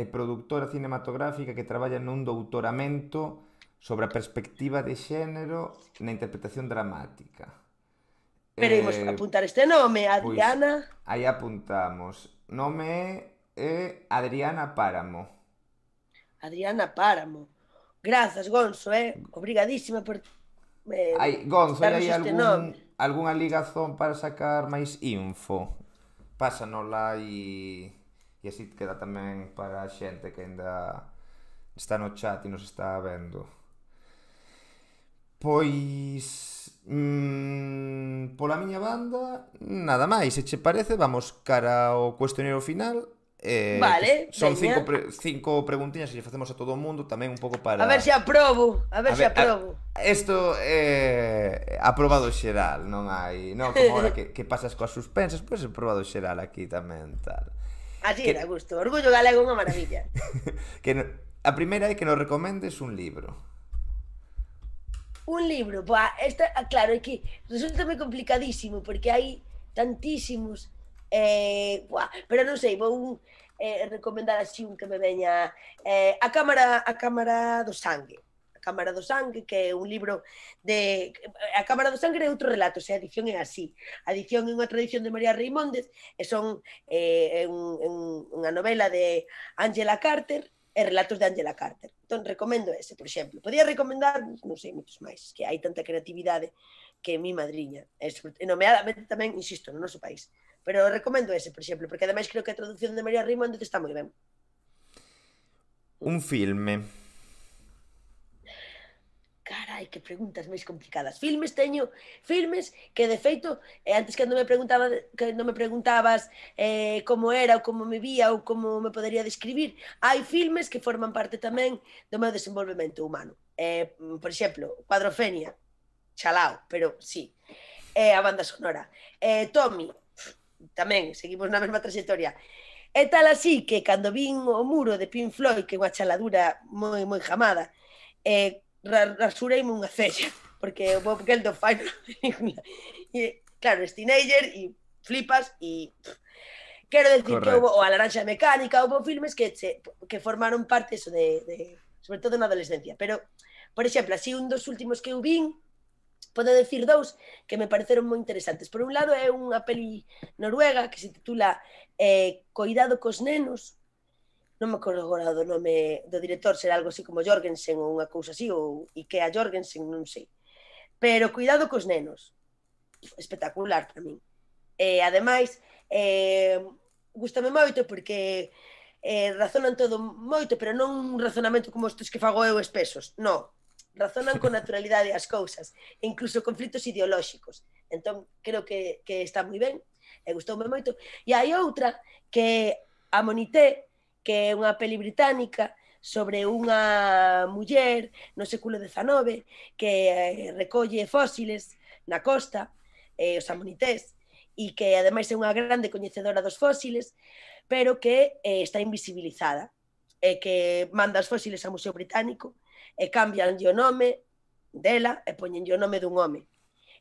e produtora cinematográfica que traballa nun doutoramento sobre a perspectiva de xénero na interpretación dramática. Pero imos apuntar este nome, Adriana... Pois, aí apuntamos. Nome é Adriana Páramo. Adriana Páramo. Grazas, Gonzo, obrigadísima por... Gonzo, hai algunha ligazón para sacar máis info? Pásanola e así queda tamén para a xente que ainda está no chat e nos está vendo. Pois pola miña banda nada máis, se che parece vamos cara ao cuestionario final. Vale, son 5 preguntiñas que lle facemos a todo o mundo tamén un pouco para... A ver se aprobo, Isto é aprobado xeral, non hai, non como ahora que pasas coas suspensas, pois é aprobado xeral aquí tamén tal. Así era, gusto, orgullo galego unha maravilla. A primeira é que nos recomendes un libro. Un libro, claro, é que resulta moi complicadísimo porque hai tantísimos, pero non sei, vou recomendar así un que me veña, A Cámara do Sangue. A Cámara do Sangue, que é un libro de... A Cámara do Sangue é outro relato, a edición é así. A edición é unha tradición de María Reimóndez, e son unha novela de Angela Carter, e relatos de Angela Carter. Entón, recomendo ese, por exemplo. Podía recomendar, non sei, moitos máis, que hai tanta creatividade que mi madriña. E nomeadamente tamén, insisto, no noso país. Pero recomendo ese, por exemplo, porque ademais creo que a traducción de María Reimóndez está moi ben. Un filme. Carai, que preguntas máis complicadas. Filmes que de feito, antes cando me preguntabas como era ou como me vía ou como me podería describir, hai filmes que forman parte tamén do meu desenvolvemento humano. Por exemplo, Cuadrofenia, chalao, pero sí. A banda sonora. Tommy, tamén, seguimos na mesma trayectoria. É tal así que cando vin o muro de Pink Floyd, que é unha chaladura moi jamada, rasureime unha cella, porque o Bob Geldof fai na película. E, claro, es teenager e flipas e... Quero decir que houve Correcto. o A Laranxa Mecánica, houve filmes que formaron parte eso sobre todo na adolescencia. Pero, por exemplo, así un dos últimos que eu vin, podo decir dous que me pareceron moi interesantes. Por un lado é unha peli noruega que se titula Coidado cos nenos, non me acordo agora do nome do director, será algo así como Jorgensen ou unha cousa así, ou Ikea Jorgensen, non sei. Pero Cuidado cos nenos, espectacular para min. Ademais, gustame moito porque razonan todo moito, pero non un razonamento como estes que fago eu espesos, non. Razonan con naturalidade as cousas, incluso conflitos ideolóxicos. Entón, creo que está moi ben, e gustoume moito. E hai outra que a Monité, que é unha peli británica sobre unha muller no século XIX que recolle fósiles na costa, os amonités, e que ademais é unha grande coñecedora dos fósiles, pero que está invisibilizada, e que manda os fósiles ao Museo Británico e cambianlle o nome dela e poñenlle o nome dun home.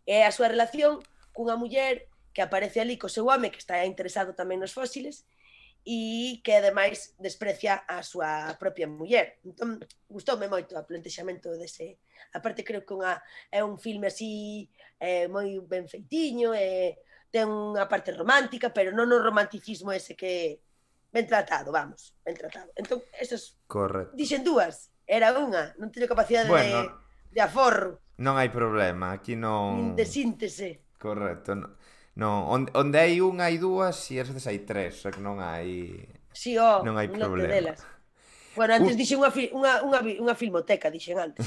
E a súa relación cunha muller que aparece ali co seu home, que está interesado tamén nos fósiles, e que ademais desprecia a súa propia muller. Entón, gustoume moito o plantexamento dese. Aparte, creo que é un filme así moi ben feitiño, ten unha parte romántica, pero non o romanticismo ese que ben tratado, vamos, ben tratado. Entón, esas... Correcto. Dixen dúas, era unha, non teño capacidade de aforro. Non hai problema, aquí non... Nin de síntese. Correcto, non, onde hai unha hai dúas e ás veces hai tres, que non hai... Sí, non hai un lote problema. delas. Bueno, antes dixen unha filmoteca, dixen antes.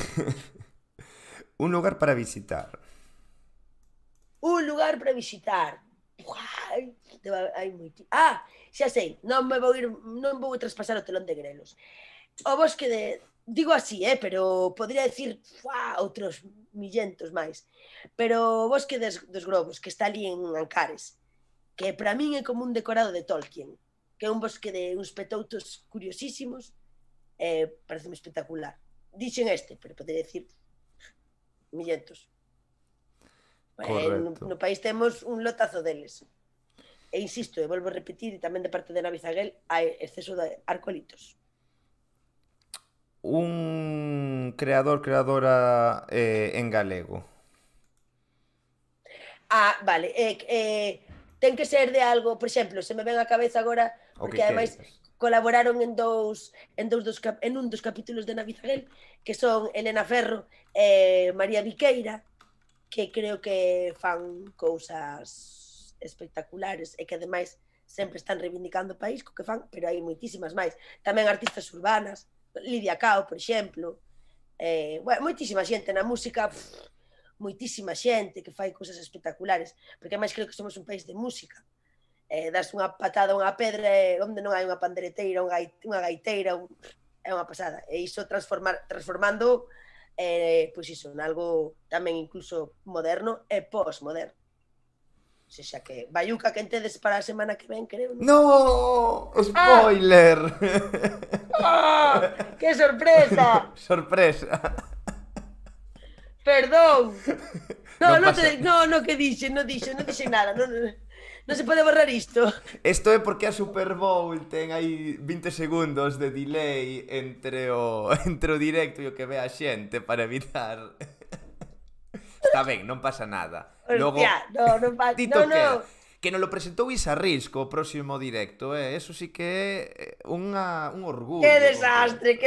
Un lugar para visitar. Un lugar para visitar. Hai moito. Xa sei, non vou traspasar o telón de grelos. O bosque de... Digo así, pero podría decir outros millentos máis. Pero o bosque dos Grobos, que está ali en Ancares, que para min é como un decorado de Tolkien, que é un bosque de uns petoutos curiosísimos, pareceme espectacular. Dixen pero podría decir millentos. No país temos un lotazo deles. E insisto, e volvo a repetir, e tamén de parte de Navizaguel, hai exceso de arcolitos. Un creadora en galego. Vale. Ten que ser de algo, por exemplo, se me ven a cabeza agora, porque ademais colaboraron en un dos capítulos de Navizaguel, que son Elena Ferro e María Viqueira, que creo que fan cousas espectaculares e que ademais sempre están reivindicando o país co que fan, pero hai moitísimas máis. Tamén artistas urbanas, Lidia Cao, por exemplo, moitísima xente na música, moitísima xente que fai cousas espectaculares, porque ademais creo que somos un país de música. Das unha patada a unha pedra onde non hai unha pandereteira, unha gaiteira, é unha pasada. E iso transformando pois iso, en algo tamén incluso moderno e postmoderno. O sea que Bayuca que entedes para a semana que ven, creo. No, spoiler. Que sorpresa. Sorpresa. Perdón. No, que dixen nada. Non se pode borrar isto. Isto é porque a Super Bowl ten aí 20 segundos de delay entre o directo e o que ve a xente para evitar. Está ben, non pasa nada. Logo, non pasa. No. Que non lo presentou Isarrisco o próximo directo, eso sí que é un orgullo. Que desastre.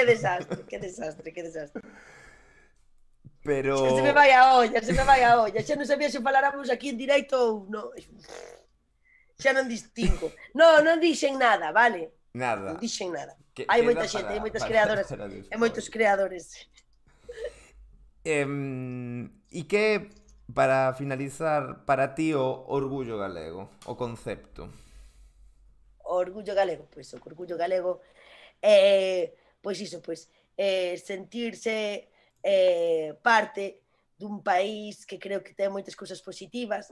Pero... Se me vai a olla. Xa non sabía se faláramos aquí en directo ou non. Xa non distingo. Non dixen nada, vale? Nada. Non dixen nada. Hai Queda moita xente, hai moitas para, creadoras para e moitos despois. creadores. E que, para finalizar, para ti o orgullo galego, o concepto? O orgullo galego, pois o orgullo galego pois iso, pois sentirse parte dun país que creo que ten moitas cousas positivas,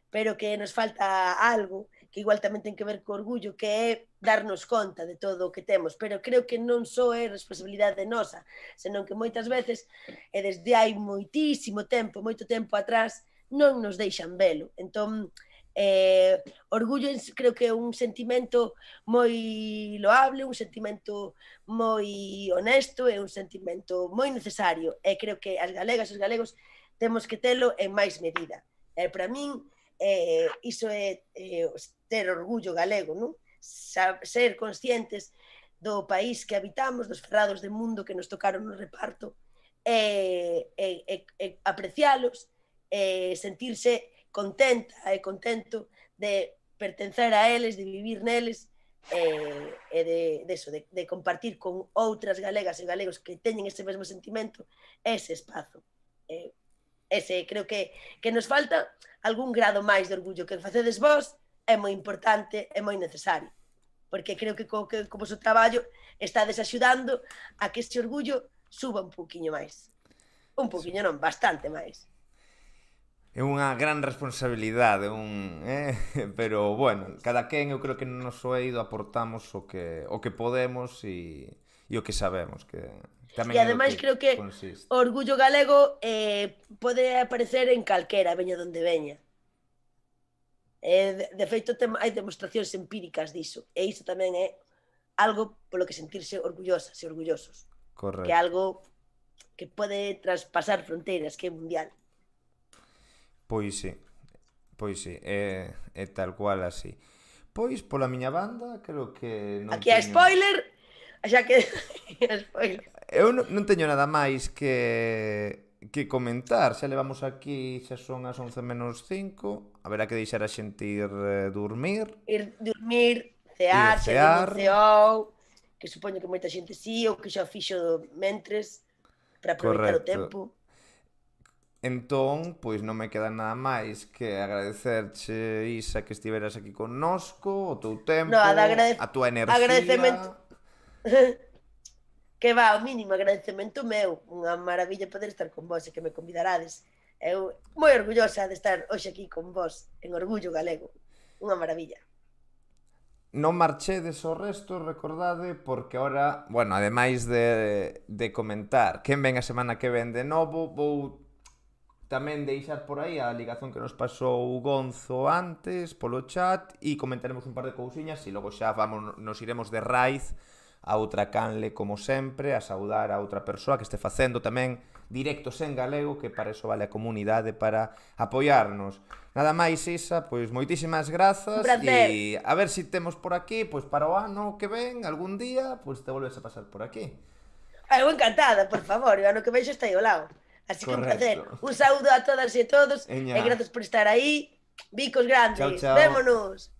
pero que nos falta algo que igual tamén ten que ver co orgullo, que é darnos conta de todo o que temos, pero creo que non só é responsabilidade nosa, senón que moitas veces, e desde hai moitísimo tempo, moito tempo atrás, non nos deixan velo. Entón, orgullo creo que é un sentimento moi loable, un sentimento moi honesto, é un sentimento moi necesario, e creo que as galegas e os galegos temos que telo en máis medida. E para min, iso é ter orgullo galego, non? Ser conscientes do país que habitamos, dos ferrados de mundo que nos tocaron no reparto, aprecialos, sentirse contenta e contento de pertencer a eles, de vivir neles, e de compartir con outras galegas e galegos que teñen ese mesmo sentimento ese espazo. Ese creo que nos falta algún grado máis de orgullo que facedes vos é moi importante e moi necesario, porque creo que co vosso traballo estades axudando a que ese orgullo suba un pouquiño máis. Un pouquiño non, bastante máis. É unha gran responsabilidade, pero bueno, cada quen eu creo que no noso eido aportamos o que podemos e o que sabemos, que tamén E é o ademais que creo que consiste. o orgullo galego pode aparecer en calquera, veña donde veña. De feito, hai demostracións empíricas diso, e iso tamén é algo polo que sentirse orgullosas e orgullosos. Correcto. Que é algo que pode traspasar fronteiras, que é mundial. Pois sí, é tal cual así. Pois, pola miña banda, creo que non aquí hai teño... spoiler, xa que... spoiler. Eu non teño nada máis que comentar. Xa levamos aquí, xa son as 11 menos 5. Haberá que deixar a xente ir dormir. Ir dormir, cear, se non ceou, que supoño que moita xente sí, ou que xa fixo mentres, para aproveitar o tempo. Entón, pois non me queda nada máis que agradecerche, Isa, que estiveras aquí connosco, o teu tempo, a tua enerxía. Agradecemento. Que va, o mínimo agradecemento meu. Unha maravilla poder estar con vos e que me convidarades. Eu moi orgullosa de estar hoxe aquí con vos en Orgullo Galego. Unha maravilla. Non marchedes o resto, recordade, porque ahora, bueno, ademais de comentar quen ven a semana que ven de novo, vou tamén deixar por aí a ligazón que nos pasou Gonzo antes polo chat e comentaremos un par de cousiñas e logo xa nos iremos de raíz a outra canle como sempre, a saudar a outra persoa que este facendo tamén directos en galego, que para eso vale a comunidade, para apoiarnos. Nada máis, Isa, pois moitísimas grazas e a ver se temos por aquí, pois para o ano que ven, algún día, pois te volves a pasar por aquí. Eu encantada, por favor, o ano que ven xa está aí ao lado. Así que un placer. Un saúdo a todas e a todos e grazas por estar aí. Bicos grandes. Chao, chao. Vémonos.